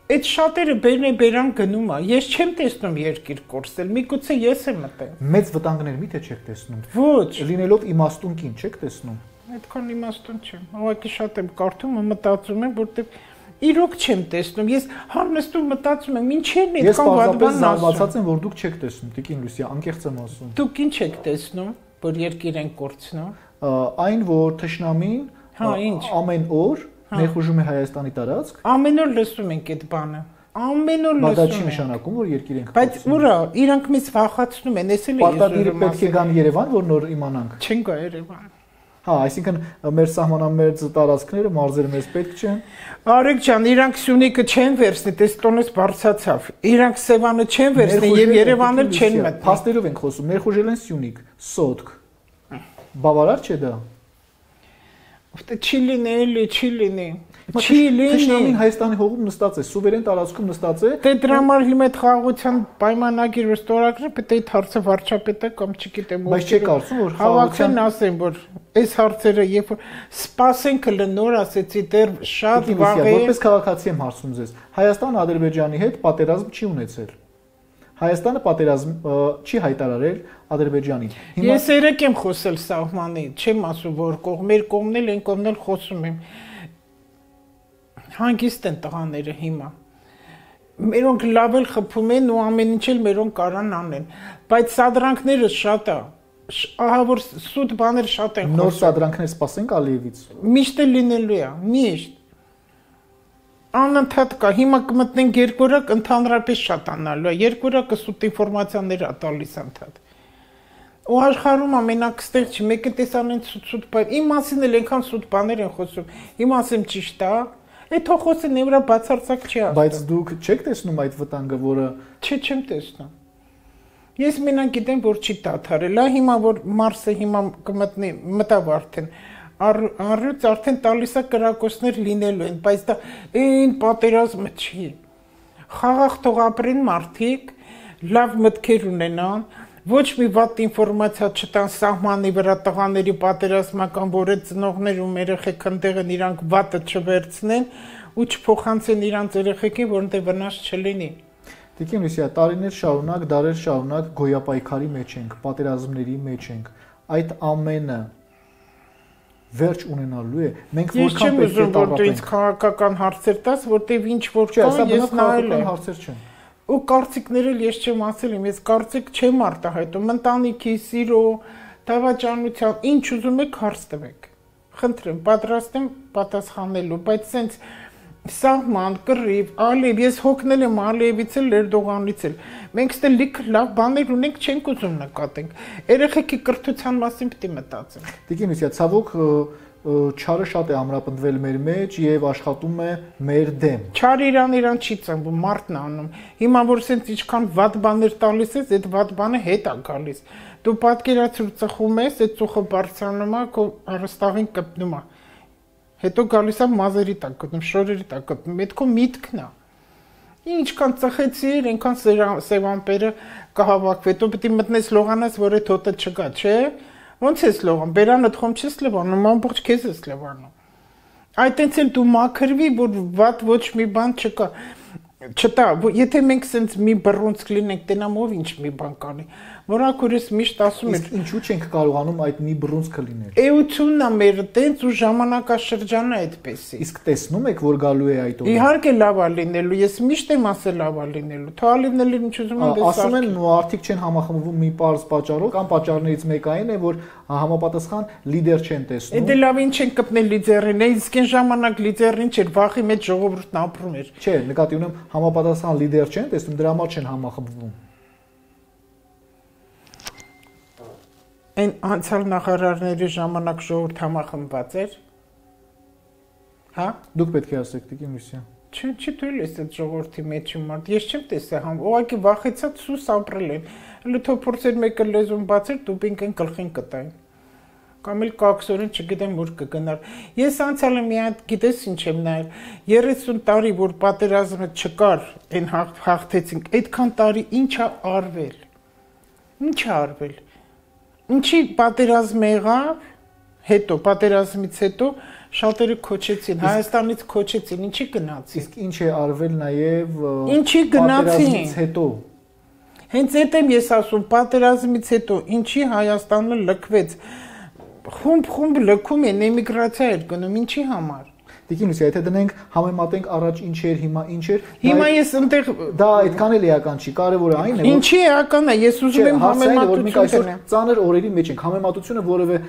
Այդ շատերը բերնե բերան գնում է։ Ես չեմ տեսնում երկիր կորցել, միգուցե ես եմ մտել։ Մեծ վտանգներ մի՞թե չեք տեսնում։ Ոչ։ Լինելով իմաստուն կին չեք տեսնում։ Այդքան իմաստուն չեմ։ Ուղղակի շատ եմ կարդում, մտածում եմ, որտեղ իրոք չեմ տեսնում։ Ես համնստում մտածում եմ, ինչերն է այդքան վատ բան ասում։ Ես զարմացած եմ, որ դուք չեք տեսնում, Տիկին Լուսիա, անկեղծ եմ ասում։ Դուք ինչ եք տեսնում, որ երկիր են կորցնում։ Այն, որ թշնամին ամեն օր ներխուժում է Հայաստանի տարածք։ Ամեն օր լսում ենք այդ բանը։ Ամեն օր լսում ենք։ Բայց դա չի նշանակում, որ երկիր ենք կորցնում։ Բայց ուրա, իրանք մեզ վախացնում են, էս էլ է։ Պարտադիր պետք է գան Երևան, որ նոր իմանանք։ Չեն գա Երևան։ Հա, այսինքն մեր սահմանամերձ տարածքները, մարզերը մեզ պետք չեն։ Արեգ ջան, իրանք Սյունիքը չեն վերցնի, տես տոնես բարձացավ։ Իրանք Սևանը չեն վերցնի եւ Երևանը չեն մտնի։ Փաստերով ենք խոսում, ներխուժել են Սյունիք, Սոտք։ Բավարար չէ դա։ Ո՞վ չի լինի, էլի չի լինի։ Չի լինի։ Թշնամին Հայաստանի հողում նստած է, սուվերեն տարածքում նստած է։ Դե դրա համար հիմա այդ խաղաղության պայմանագիր ստորագրը պետք է հարցը վարչապետը կամ չգիտեմ ով։ Բայց չի կարծում, որ խաղաղության ասեն, որ այս հարցերը երբ որ սպասենք հլը նոր ասեցի դեռ շատ վաղ է։ Որպես քաղաքացի եմ հարցնում ձեզ։ Հայաստանը Ադրբեջանի հետ պատերազմ չի ունեցել։ Հայաստանը պատերազմ չի հայտարարել Ադրբեջանին։ Ես երեք եմ խոսել սահմանի, չեմ ասում որ կողմ, մեր կողմն էլ են կողմն էլ խոսում եմ։ Հանգիստ են տղաները հիմա։ Մերոնք լավ էլ խփում են ու ամեն ինչ էլ մերոնք կարան անեն, բայց սադրանքները շատ է։ Ահա որ սուտ բաներ շատ են խոսում։ Նոր սադրանքներ սպասենք Ալիևից։ Միշտ է լինելու է, միշտ։ Անընդհատ կա, հիմա կմտնենք երկորակ ընդհանրապես շատանալու է, երկորակը սուտ ինֆորմացիաներ է տալիս ընդհատ։ Ու աշխարհում ամենակ ստեղ չի, մեկը տեսանեն սուտ բան, իմ մասին էլ այնքան սուտ բաներ են խոսում, իմ ասեմ ճիշտ է, այդ թող խոսեն նեվրա բացարձակ չի ասում։ Բայց դուք չեք տեսնում այդ վտանգը, որը Չէ, չեմ տեսնում։ Ես մենակ գիտեմ, որ չի դադարել, հա հիմա որ Մարսը հիմա կմտնի, մտավ արդեն Առյուծ արդեն տալիս է կրակոցներ լինելու են, բայց դա այն պատերազմը չի։ Խաղաղ թող ապրեն մարդիկ, լավ մտքեր ունենան, ոչ մի վատ ինֆորմացիա չտան սահմանի վրա տղաների պատերազմական, որ այդ ծնողներ ու երեխեք ընդեղ են իրանք վատը չվերցնեն ու չփոխանցեն իրանց երեխեքին, որոնց վնաս չլինի։ Տիկին Լուսիա, տարիներ շարունակ, դարեր շարունակ գոյապայքարի մեջ ենք, պատերազմների մեջ ենք։ Այդ ամենը վերջ ունենալու է։ Մենք որքան պետք է տարապենք։ Ես չեմ ուզում, որ դու ինձ քաղաքական հարցեր տաս, որտեղ ինչ որ կա, ես նայել եմ։ Հարցեր չեն։ Ու կարծիքները ես չեմ ասել, ես կարծիք չեմ արտահայտում, ընտանիքի, սիրո, դավաճանության, ինչ ուզում եք հարց տվեք։ Խնդրեմ, պատրաստ եմ պատասխանելու, բայց սենց սահման, կռիվ, Ալիև, ես հոգնել եմ Ալիևից էլ, Էրդողանից էլ։ Մենք ստե լիք լավ բաներ ունենք, չենք ուզում նկատենք։ Երեխեքի կրթության մասին պետք է մտածենք։ Տիկին Լուսիա, ցավոք չարը շատ է ամրապնդվել մեր մեջ եւ աշխատում է մեր դեմ։ Չարը իրան իրան չի ծնվում, մարդն անում։ Հիմա որ սենց ինչքան վատ բաներ տալիս ես, այդ վատ բանը հետ է գալիս։ Դու պատկերացրու ծխում ես, այդ ծուխը բարձրանում է, քո արստաղին կպնում է։ Հետո գալիս է մազերի տակ գտնում, շորերի տակ գտնում, այդ քո միտքն է։ Ինչքան ծխեցիր, այնքան սևամպերը կհավաքվի, դու պետք է մտնես լողանաս, որ այդ հոտը չկա, չէ՞։ Ոնց ես լողան, բերանը թխում չես լվանում, ամբողջ քեզ ես լվանում։ Այդ այնց էլ դու մաքրվի, որ վատ ոչ մի բան չկա։ Չտա, եթե մենք սենց մի բռունցք լինենք, տենամ ով ինչ մի բան կանի։ Մորակուրս միշտ ասում էր, ինչու չենք կարողանում այդ մի բռունցքը լինել։ Էությունն է մեր տենց ու ժամանակաշրջանը այդպեսի։ Իսկ տեսնում եք, որ գալու է այդ օրը։ Իհարկե լավ է լինելու, ես միշտ եմ ասել լավ է լինելու։ Թվալիվները ինչ ուզում են դες ասում են մարդիկ չեն համախմբվում մի պարզ պատճառով, կամ պատճառներից մեկը այն է, որ համապատասխան լիդեր չեն տեսնում։ Դե լավ ինչ են կպնել լիդերին, իսկ այն ժամանակ լիդերին չէր, վախի մեջ ժողովուրդն ապրում էր։ Չէ, նկատի ունեմ համապատասխան լիդեր չեն տեսնում, դրա համար չեն համախմբվում։ Այն անցյալ նախարարների ժամանակ ժողովուրդ համախմբված էր։ Հա։ Դուք պետք է ասեք, Տիկին Լուսիա։ Չէ, չի թույլ էս այդ ժողովրդի մեջ մարդ։ Ես չեմ տեսել համ, ուղղակի վախեցած սուս ապրել են։ Հələ թող փորձեր մեկը լեզուն բացել, դուպինկեն գլխին կտային։ Կամ էլ կաքսորեն, չգիտեմ ուր կգնար։ Ես անցյալը մի հատ գիտես ինչ եմ նայել, երեսուն տարի որ պատերազմը չկար, այն հաղթեցինք, այդքան տարի ինչ է արվել։ Ինչ է արվել։ Ինչի պատերազմ եղավ, հետո պատերազմից հետո շատերը քոչեցին, Հայաստանից քոչեցին, ինչի գնացին։ Իսկ ինչ է արվել նաև ինչի գնացին պատերազմից հետո։ Հենց այդ եմ ես ասում, պատերազմից հետո ինչի Հայաստանը լքվեց։ Խումբ-խումբ լքում են, էմիգրացիա էր գնում, ինչի համար։ Տիկին Լուսիա, եթե դնենք համեմատենք առաջ ինչ էր, հիմա ինչ էր։ Հիմա ես ընտեղ դա այդքան էլ էական չի, կարևորը այն է, որ ինչի էական է, ես ուզում եմ համեմատություն։ Ծանր օրերի մեջ ենք, համեմատությունը որևէ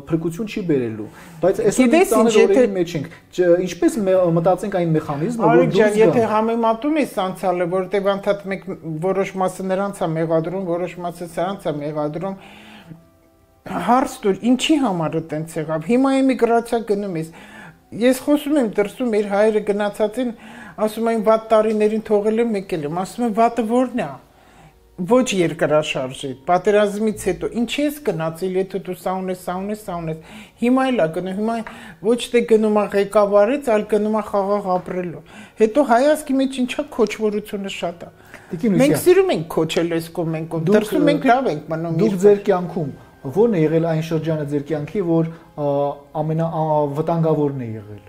փրկություն չի բերելու, բայց այսօր ծանր օրերի մեջ ենք։ Ինչպես մտածենք այն մեխանիզմը, որ դուրս գա։ Եթե համեմատում ես անցյալը, որտեղ անդադ մեկ որոշ մասը նրանց է մեղադրում, որոշ մասը սրանց է մեղադրում, հարց դուր, ինչի համար է տենց եղավ։ Հիմա էմիգրացիա գնում ես։ Ես խոսում եմ դրսում մեր հայրը գնացած են, ասում են վատ տարիներին թողել եմ եկել եմ, ասում են վատը որն է։ Ոչ երկրաշարժի, պատերազմից հետո ինչի ես գնացել, եթե դու սա ունես, սա ունես, սա ունես։ Հիմա էլ է գնում, հիմա ոչ թե գնում է ղեկավարից, այլ գնում է խաղաղ ապրելու։ Հետո հայացքի մեջ ինչա քոչվորությունը շատ է։ Մենք սիրում ենք քոչել այս կողմենք, դրսում մենք լավ ենք մնում։ Դուք ձեր կյանքում ո՞րն է եղել այն շրջանը ձեր կյանքի, որ ամենավտանգավորն է եղել։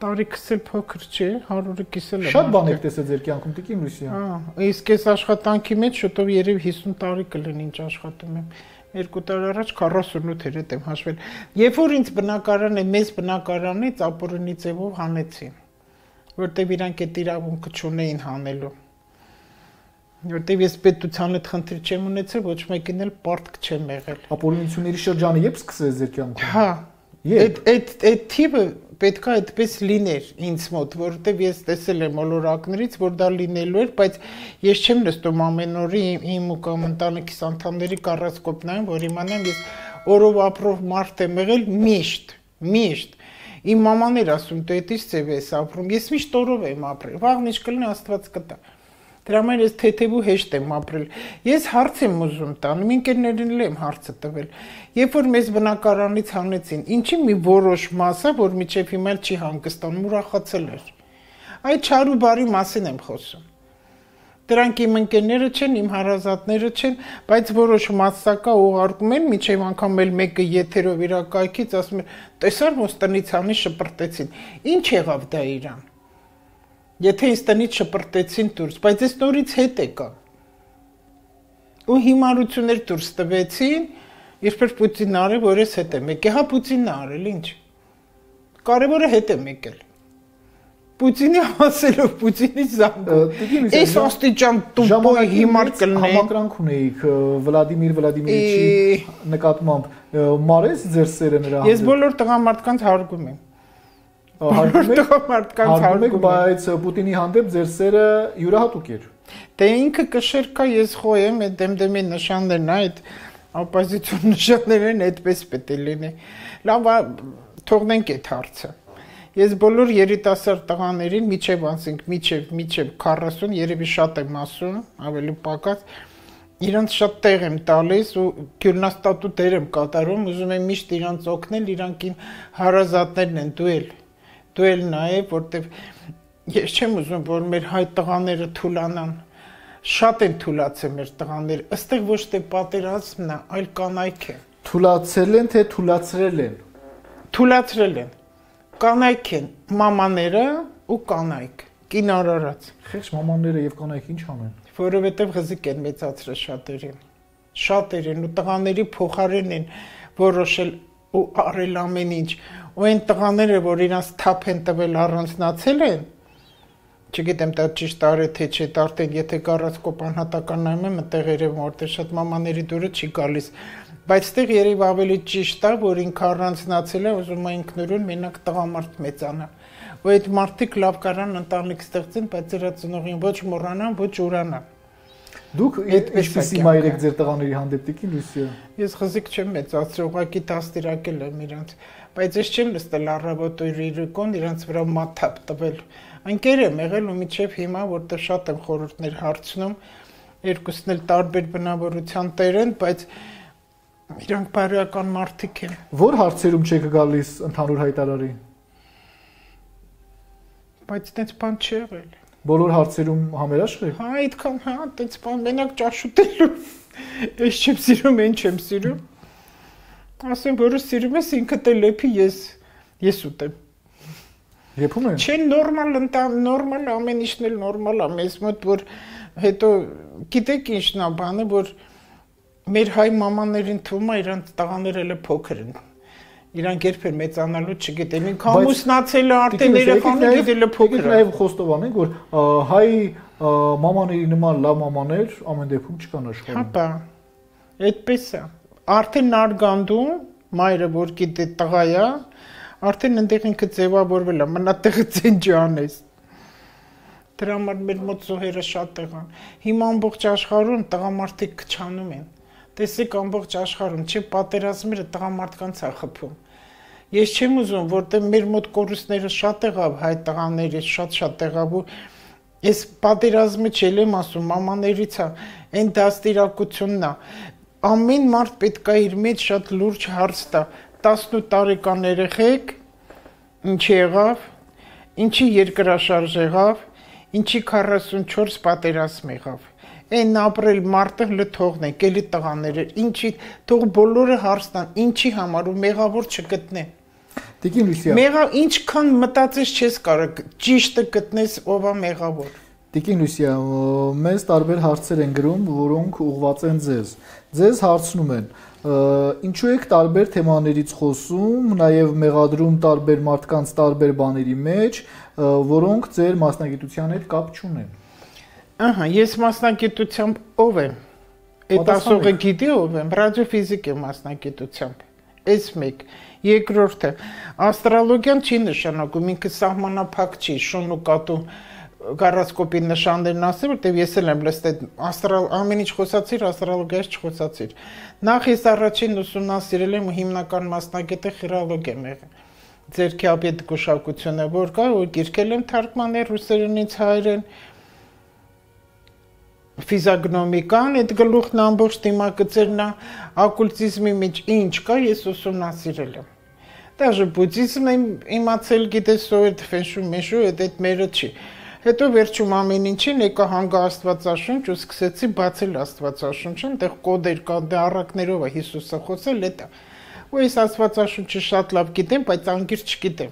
Տարիքս էլ փոքր չէ, հարյուրը կիսել եմ։ Շատ բան եք տեսել ձեր կյանքում, Տիկին Լուսիա։ Հա, իսկ այս աշխատանքի մեջ շուտով երևի հիսուն տարի կլինի ինչ աշխատում եմ։ Երկու տարի առաջ քառասունութ էր եմ հաշվել։ Երբ որ ինձ բնակարանը, մեծ բնակարանից ապօրինի ձևով հանեցին, որտեղ իրանք այդ իրավունքը չունեին հանելու։ Որտեղ ես պետության հետ խնդիր չեմ ունեցել, ոչ մեկին էլ պարտք չեմ եղել։ Ապօրինությունների շրջանը երբ սկսեց ձեր կյանքում։ Հա։ Այդ այդ այդ թիվը պետքա այդպես լիներ ինձ մոտ, որովհետև ես տեսել եմ ոլորակներից, որ դա լինելու էր, բայց ես չեմ նստում ամեն օրի իմ ու կամ ընտանիքիս անդամների կառասկոպնային, որ իմանամ ես օրով ապրող մարդ եմ եղել միշտ, միշտ։ Իմ մաման էր ասում, դու էդից ձև ես ապրում, ես միշտ օրով եմ ապրել, վաղն ինչ կլինի Աստված կտա։ Դրա համար ես թեթև ու հեշտ եմ ապրել։ Ես հարց եմ ուզում տալ, իմ ընկերներին էլ եմ հարցը տվել։ Երբ որ մեզ բնակարանից հանեցին, ինչի մի որոշ մասը, որ միջև հիմա չի հանգստանում, ուրախացել էր։ Այդ չար ու բարի մասին եմ խոսում։ Դրանք իմ ընկերները չեն, իմ հարազատները չեն, բայց որոշ մասսակա ուղարկում են, միջև անգամ էլ մեկը եթերով իր կայքից ասում է, տեսար ոնց տնից հանի շպրտեցին։ Ինչ եղավ դա իրան։ Եթե ինձ տնից շպրտեցին դուրս, բայց այս նորից հետ եկա։ Ու հիմարություններ դուրս տվեցին, երբեր Պուտինն արել, որ ես հետ եմ եկել, հա Պուտինն արել, ինչ։ Կարևորը հետ եմ եկել։ Պուտինի ասելով, Պուտինի զանգում։ Այս աստիճան տուպոյ հիմար կլնե։ Համակրանք ունեիք Վլադիմիր Վլադիմիրիչի նկատմամբ, մարես ձեր սերը նրա հանդեպ։ Ես բոլոր տղամարդկանց հարգում եմ։ Հարգում եք, բայց Պուտինի հանդեպ ձեր սերը յուրահատուկ էր։ Դե ինքը կշեր կա, ես խոյեմ, այդ դեմդեմի նշաններն, այդ օպոզիցիոն նշաններն այդպես պետք է լինի։ Լավ, թողնենք այդ հարցը։ Ես բոլոր երիտասարդ տղաներին միջև ասենք, միջև, միջև քառասուն, երևի շատ եմ ասում, ավելի պակաս, իրանց շատ տեղ եմ տալիս ու գյուռնաստատու դեր եմ կատարում, ուզում եմ միշտ իրանց օգնել, իրանք իմ հարազատներն են, դու էլ, դու էլ նաև, որտեվ ես չեմ ուզում, որ մեր հայ տղաները թուլանան, շատ են թուլացել մեր տղաները, ըստեղ ոչ թե պատերազմն է, այլ կանայք է։ Թուլացել են, թե թուլացրել են։ Թուլացրել են։ Կանայք են մամաները ու կանայք, կինարարած։ Խեղճ մամանները եւ կանայք ինչ անեն։ Որովհետեւ ղզիկ են մեծացրել շատերին։ շատեր են ու տղաների փոխարեն են որոշել ու արել ամեն ինչ ու այն տղաները որ իրանց թափ են տվել առանձնացել են չգիտեմ դա ճիշտ արե թե չէ արդեն եթե գարացկոպ անհատական նայում եմ այդտեղ երևում որտեղ շատ մամաների դուրը չի գալիս բայց այդտեղ երևի ավելի ճիշտ է որ ինքը առանձնացել է ուզում է ինքնուրույն մենակ տղամարդ մեծանա ու այդ մարդիկ լավ կարան ընտանիք ստեղծեն բայց դրա ծնողին ոչ մոռանան ոչ ուրանան Դուք այսպեսի մայր եք ձեր տղաների հանդեպ տիկին Լուսիա Ես խզիկ չեմ մեծացրել ուղղակի դաստիարակել եմ իրանց բայց ես չեմ նստել առավոտ ու իրիկոն իրանց վրա մաթափ տվել Ընկեր եմ եղել ու միջև հիմա որտեղ շատ եմ խորհուրդներ հարցնում երկուսն էլ տարբեր բնավորության տեր են բայց իրանք բարոյական մարդիկ են Որ հարցերում չեք գալիս ընդհանուր հայտարարի Բայց այդպես բան չի եղել Բոլոր հարցերում համերաշխ եք Հա այդքան հա այդպես բան մենակ ճաշուտելու Ես չեմ սիրում այն չեմ սիրում Ասեմ որը սիրում ես ինքդ էլ լեփի ես ես ուտեմ Եփում են Չէ նորմալ ընտան նորմալ ամեն ինչն էլ նորմալ է մեզ մոտ որ հետո գիտեք ինչն է բանը որ մեր հայ մամաներին թվում է իրանց տղաները էլ փոքր են Իրանք երբեր մեծանալու չգիտեն ինքը ամուսնացել է արդեն երեխաներ գիտել է փոքր է Նաև խոստովանենք որ հայ մամաների նման լավ մամաներ ամեն դեպքում չկան աշխարհում Հապա այդպես է արդեն արգանդում մայրը որ գիտե տղա է Արդեն այնտեղ ինքը ձևավորվել է, մնա տեղը ցենջանես։ Դրա համար մեր մոտ զոհերը շատ տեղան։ Հիմա ամբողջ աշխարհում տղամարդիկ քչանում են։ Տեսեք ամբողջ աշխարհում չի պատերազմները տղամարդկանց է խփում։ Ես չեմ ուզում, որտեղ մեր մոտ կորուստները շատ եղավ հայ տղաների, շատ-շատ եղավ ու ես պատերազմը չեմ ասում, մամաներից է, այն դաստիարակությունն է։ Ամեն մարդ պետք է իր մեջ շատ լուրջ հարց տա։ տասնութ տարեկան երեխեք ինչի եղավ, ինչի երկրաշարժ եղավ, ինչի քառասունչորս պատերազմ եղավ։ Այն ապրել մարդը լթողնենք, էլի տղաները, ինչի թող բոլորը հարցնան, ինչի համար ու մեղավոր չգտնեն։ Տիկին Լուսիա։ Մեղա ինչքան մտածես չես կարող ճիշտը գտնես ով է մեղավոր։ Տիկին Լուսիա, մեզ տարբեր հարցեր են գրում, որոնք ուղղված են ձեզ։ Ձեզ հարցնում են Ինչու եք տարբեր թեմաներից խոսում, նաև մեղադրում տարբեր մարդկանց տարբեր բաների մեջ, որոնք ձեր մասնագիտության հետ կապ չունեն։ Ահա, ես մասնագիտությամբ ով եմ։ Այդ ասողը գիտի ով եմ, ռադիոֆիզիկ եմ մասնագիտությամբ։ Այս մեկ, երկրորդը, աստրոլոգիան չի նշանակում, ինքը սահմանափակ չի, շուն ու կատու Գարասկոպի նշաններն ասել, որտեղ ես էլ եմ լսել աստրալ ամեն ինչ խոսացիր, աստրոլոգիայից չխոսացիր։ Նախ ես առաջին ուսումնասիրել եմ հիմնական մասնագետը խիրոլոգիա եմ եղել։ Ձերքի ապետ գուշակությունը որ կա, ու գիրքել եմ թարգմանել ռուսերենից հայերեն։ Ֆիզիոգնոմիկան, այդ գլուխն ամբողջ դիմագծերն է, օկուլտիզմի մեջ ինչ կա, ես ուսումնասիրել եմ։ Դաժե բուդդիզմն եմ իմացել, գիտես, սովետ ֆենշու, մեշու, այդ մերը չի։ Հետո վերջում ամեն ինչին եկա հանգա Աստվածաշունչ ու սկսեցի բացել Աստվածաշունչը, այնտեղ կոդեր կա, դե առակներով է Հիսուսը խոսել, դա։ Ու ես Աստվածաշունչը շատ լավ գիտեմ, բայց անգիր չգիտեմ,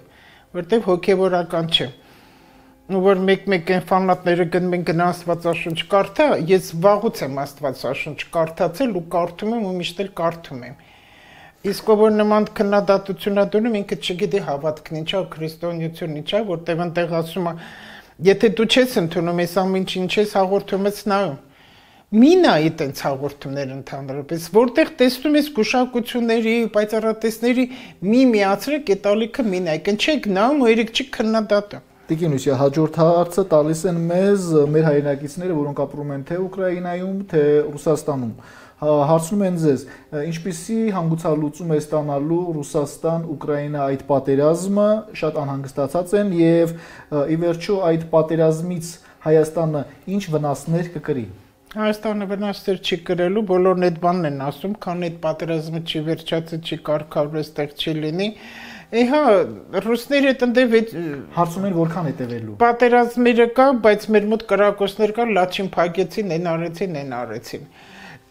որտեղ հոգևորական չէ։ Ու որ մեկ-մեկ այն ֆանատները գնում են գնա Աստվածաշունչ կարդա, ես վաղուց եմ Աստվածաշունչ կարդացել ու կարդում եմ ու միշտ էլ կարդում եմ։ Իսկ որ նման քննադատություն ադունում ինքը չգիտի հավատքն ինչա, քրիստոնեություն ինչա, որտեղ այնտեղ ասում է Եթե դու չես ընդունում ես ամեն ինչ ես հաղորդում ես նայում։ Մի նայի տենց հաղորդումներ ընդհանրապես, որտեղ տեսնում ես գուշակությունների, պայծառատեսների մի միացրեք այդ ալիքը մի նայեք, չեք նայում ու երեք չի քննադատում։ Տիկին Լուսիա, հաջորդ հարցը տալիս են մեզ մեր հայրենակիցները, որոնք ապրում են թե Ուկրաինայում, թե Ռուսաստանում։ Հարցնում են ձեզ, ինչպիսի հանգուցալուծում է ստանալու Ռուսաստան-Ուկրաինա այդ պատերազմը, շատ անհանգստացած են եւ ի վերջո այդ պատերազմից Հայաստանը ինչ վնասներ կկրի։ Հայաստանը վնասներ չի կրելու, բոլորն այդ բանն են ասում, քան այդ պատերազմը չի վերջացել, չի կարգավորվել, այդտեղ չի լինի։ Էհա, ռուսները այդտեղ հարցում են որքան է տևելու։ Պատերազմները կա, բայց մեր մոտ կրակոցներ կա, լաչին փակեցին, այն արեցին, այն արեցին։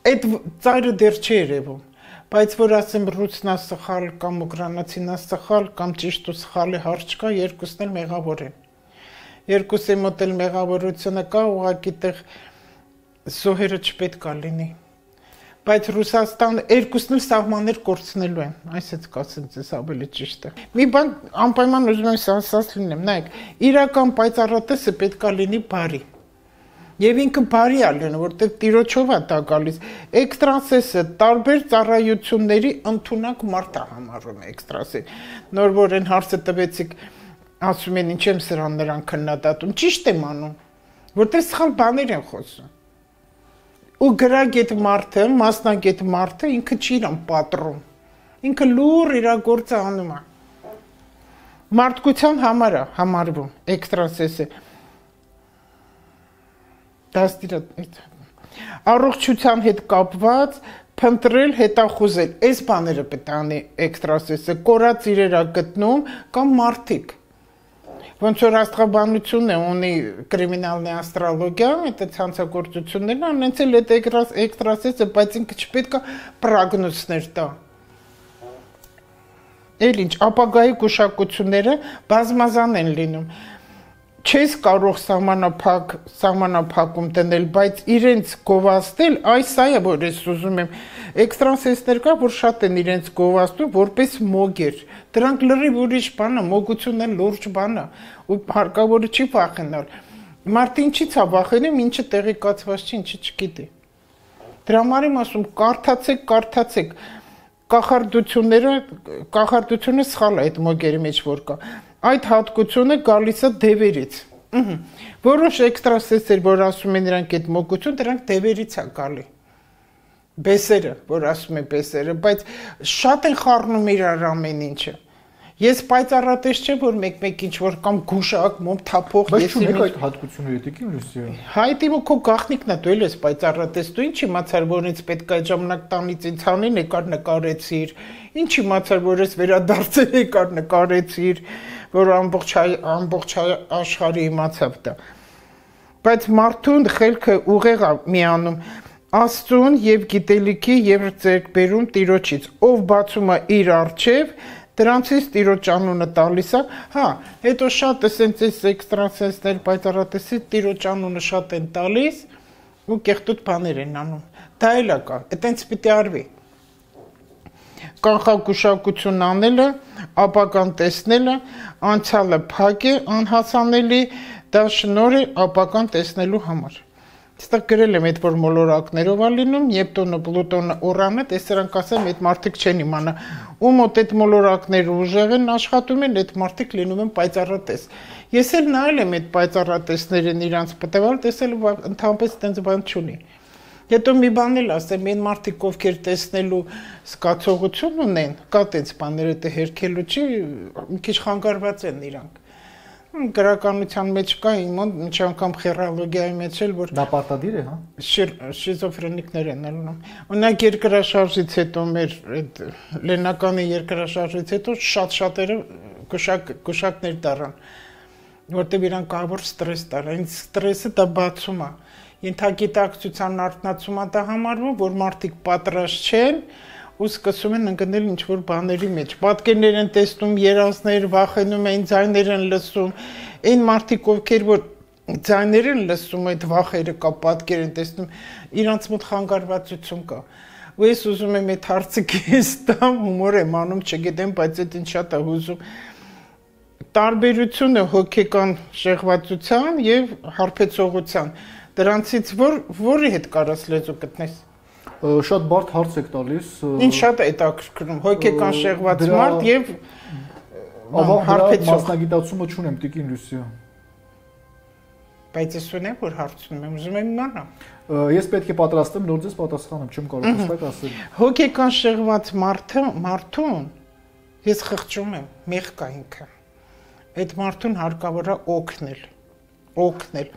Այդ ծայրը դեռ չի երևում, բայց որ ասեմ ռուսնա սխալ կամ ուկրաինացինա սխալ կամ ճիշտ ու սխալի հարց կա, երկուսն էլ մեղավոր են։ Երկուսի մոտ էլ մեղավորությունը կա, ուղղակի տեղ զոհերը չպետք է լինի։ Բայց Ռուսաստան երկուսն էլ սահմաններ կորցնելու են, այսպես կասեմ ձեզ ավելի ճիշտ է։ Մի բան անպայման ուզում եմ ասած լինեմ, նայեք, իրական պայծառատեսը պետք է լինի բարի։ Եվ ինքը բարի է լինում, որտեղ տիրոջով է դա գալիս։ Էքստրասենսը տարբեր ծառայությունների ընդունակ մարդ է համարում էքստրասենս։ Նոր որ այն հարցը տվեցիք, ասում են ինչ եմ սրան նրան քննադատում, ճիշտ եմ անում, որտեղ սխալ բաներ են խոսում։ Ու գրագետ մարդը, մասնագետ մարդը ինքը չի իրան պատռում։ Ինքը լուր իր գործը անում է։ Մարդկության համար է համարվում էքստրասենսը։ Դաստիարակ առողջության հետ կապված փնտրել, հետախուզել, այս բաները պետք է անի էքստրասենսը, կորած իրեր է գտնում կամ մարդիկ։ Ոնց որ աստղաբանությունն է ունի կրիմինալնի աստրոլոգիա, այդ ցանցագործություններն անենց էլ այդ էքստրասենսը, բայց ինքը չպետք է պրոգնոզներ տա։ Էլ ինչ, ապագայի գուշակությունները բազմազան են լինում։ Չես կարող սահմանափակ սահմանափակում դնել, բայց իրենց գովաստել, այս սա է, որ ես ուզում եմ։ Էքստրասենսներ կա, որ շատ են իրենց գովաստում որպես մոգեր։ Դրանք լրիվ ուրիշ բան է, մոգությունն է լուրջ բան է, ու հարկավոր չի վախենալ։ Մարդը ինչի՞ց է վախենում, ինչը տեղեկացված չի, ինչը չգիտի։ Դրա համար եմ ասում, կարդացեք, կարդացեք։ Կախարդությունները, կախարդությունը սխալ է այդ մոգերի մեջ որ կա։ Այդ հատկությունը գալիս է դևերից։ Որոշ էքստրասենսեր, որ ասում են նրանք այդ մոգություն, դրանք դևերից է գալի։ Բեսերը, որ ասում են բեսերը, բայց շատ են խառնում իրար ամեն ինչը։ Ես պայծառատես չեմ, որ մեկ-մեկ ինչ-որ կամ գուշակ, մոմ թափող, ես իմ այդ հատկությունները դեկին Լուսիա։ Հայտի ու քո գախնիկն է, դու էլ ես պայծառատես, դու ինչ իմացար, որ ինձ պետք է այդ ժամանակ տանից ինձ հանի նկար նկարեցիր, ինչ իմացար, որ ես վերադարձել եկար նկարեցիր, որ ամբողջ ամբողջ աշխարհը իմացավ դա։ Բայց մարդուն խելքը ուղեղ է միանում Աստծուն եւ գիտելիքի եւ ձեռքբերում Տիրոջից, ով բացում է իր առջև, դրանցից Տիրոջ անունը տալիս է, հա, հետո շատ էսենց էս էքստրասենսներ պայծառատեսի Տիրոջ անունը շատ են տալիս ու կեղտոտ բաներ են անում։ Դա էլ է կա, այտենց պիտի արվի։ Կանխագուշակություն անելը, ապագան տեսնելը, անցյալը փակ է, անհասանելի, դա շնորհ է ապագան տեսնելու համար։ Այստեղ գրել եմ այդ որ մոլորակներով է լինում, Նեպտունը, Պլուտոնը, Ուրանը, դե սրանք ասեմ, այդ մարդիկ չեն իմանա։ Ու մոտ այդ մոլորակները ուժեղ են աշխատում են, այդ մարդիկ լինում են պայծառատես։ Ես էլ նայել եմ այդ պայծառատեսներին իրանց պատվալ, տեսել ընդհանրապես այդպես բան չունի։ Հետո մի բան էլ ասեմ, այն մարդիկ ովքեր տեսնելու զգացողություն ունեն, կա տենց բաները դե հերքելու չի, մի քիչ խանգարված են իրանք։ Գրականության մեջ կա իմ ինչ անգամ խերալոգիայի մեջ էլ որ դա պարտադիր է, հա։ Շիզոֆրենիկներ են ելնում։ Օրինակ երկրաշարժից հետո մեր այդ Լեննականի երկրաշարժից հետո շատ շատերը գուշակ գուշակներ դառան, որտեղ իրանք կավոր ստրես դառան։ Այն ստրեսը դա բացում է։ Ենթագիտակցության արտնացում է դա համարվում, որ մարդիկ պատրաստ չեն ու սկսում են ընկնել ինչ-որ բաների մեջ։ Պատկերներ են տեսնում, երազներ, վախենում են, ձայներ են լսում։ Այն մարդիկ, ովքեր որ ձայներ են լսում, այդ վախերը կա, պատկեր են տեսնում, իրանց մոտ խանգարվածություն կա։ Ու ես ուզում եմ այդ հարցը քեզ տամ, հումոր եմ անում, չգիտեմ, բայց այդ ինչ շատ է հուզում։ Տարբերությունը հոգեկան շեղվածության եւ հարբեցողության։ Դրանցից որ որի հետ կարաս լեզու գտնես։ Շատ բարդ հարց եք տալիս։ Ինչ շատ է հետաքրքրում, հոգեկան շեղված մարդ եւ հարբեցող մասնագիտացումը չունեմ, Տիկին Լուսիա։ Բայց ես ունեմ որ հարցնում եմ, ուզում եմ իմանալ։ Ես պետք է պատրաստեմ, նոր ձեզ պատասխանեմ, չեմ կարող հստակ ասել։ Հոգեկան շեղված մարդը, մարդուն ես խղճում եմ, մեղ կա ինքը։ Այդ մարդուն հարկավոր է օգնել, օգնել,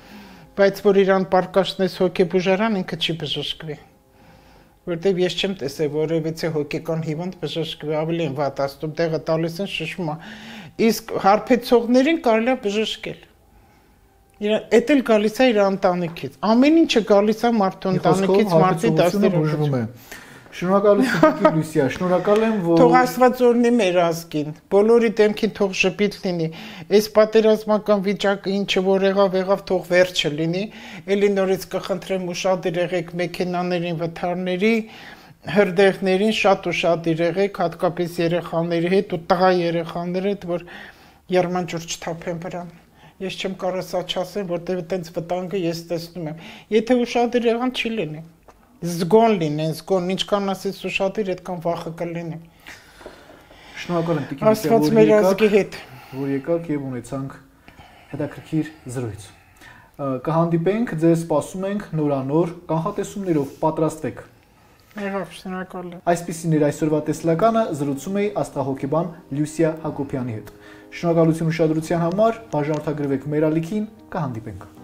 բայց որ իրան պարկաշնես հոգեբուժարան ինքը չի բժշկվի։ Որտեւ ես չեմ տեսել որևիցե հոգեկան հիվանդ բժշկվի, ավելի են վատաստում, տեղը տալիս են շշմա։ Իսկ հարբեցողներին կարելի է բժշկել։ Էդ էլ գալիս է իր ընտանիքից։ Ամեն ինչը գալիս է մարդու ընտանիքից, մարդի դաստիարակությունը։ Շնորհակալություն Տիկին Լուսիա, շնորհակալ եմ, որ Թող Աստված օրհնի մեր ազգին, բոլորի դեմքին թող շփիտ լինի, այս պատերազմական վիճակը ինչը որ եղավ, եղավ թող վերջը լինի, էլի նորից կխնդրեմ ուշադիր եղեք մեքենաներին, վթարների, հրդեհներին շատ ու շատ եղեք, հատկապես երեխաների հետ ու տղա երեխաների հետ, որ երմանջուր չթափեն վրան։ Ես չեմ կարող սա չասեմ, որտեղ այտենց վտանգը ես տեսնում եմ։ Եթե ուշադիր եղան, չի լինի։ Զգոն լինեն, զգոն, ինչքան ասես ուշադիր, այդքան վախը կլինի։ Շնորհակալ եմ Տիկին Աստված մեր ազգի հետ, որ եկաք եւ ունեցանք հետաքրքիր զրույց։ Կհանդիպենք, ձեզ սպասում ենք նորանոր կանխատեսումներով, պատրաստվեք։ Եղավ, շնորհակալ եմ։ Այսպիսին էր այսօրվա տեսլականը, զրուցում էի աստղահոգեբան Լյուսիա Հակոբյանի հետ։ Շնորհակալություն ուշադրության համար, բաժանորդագրվեք մեր ալիքին, կհանդիպենք։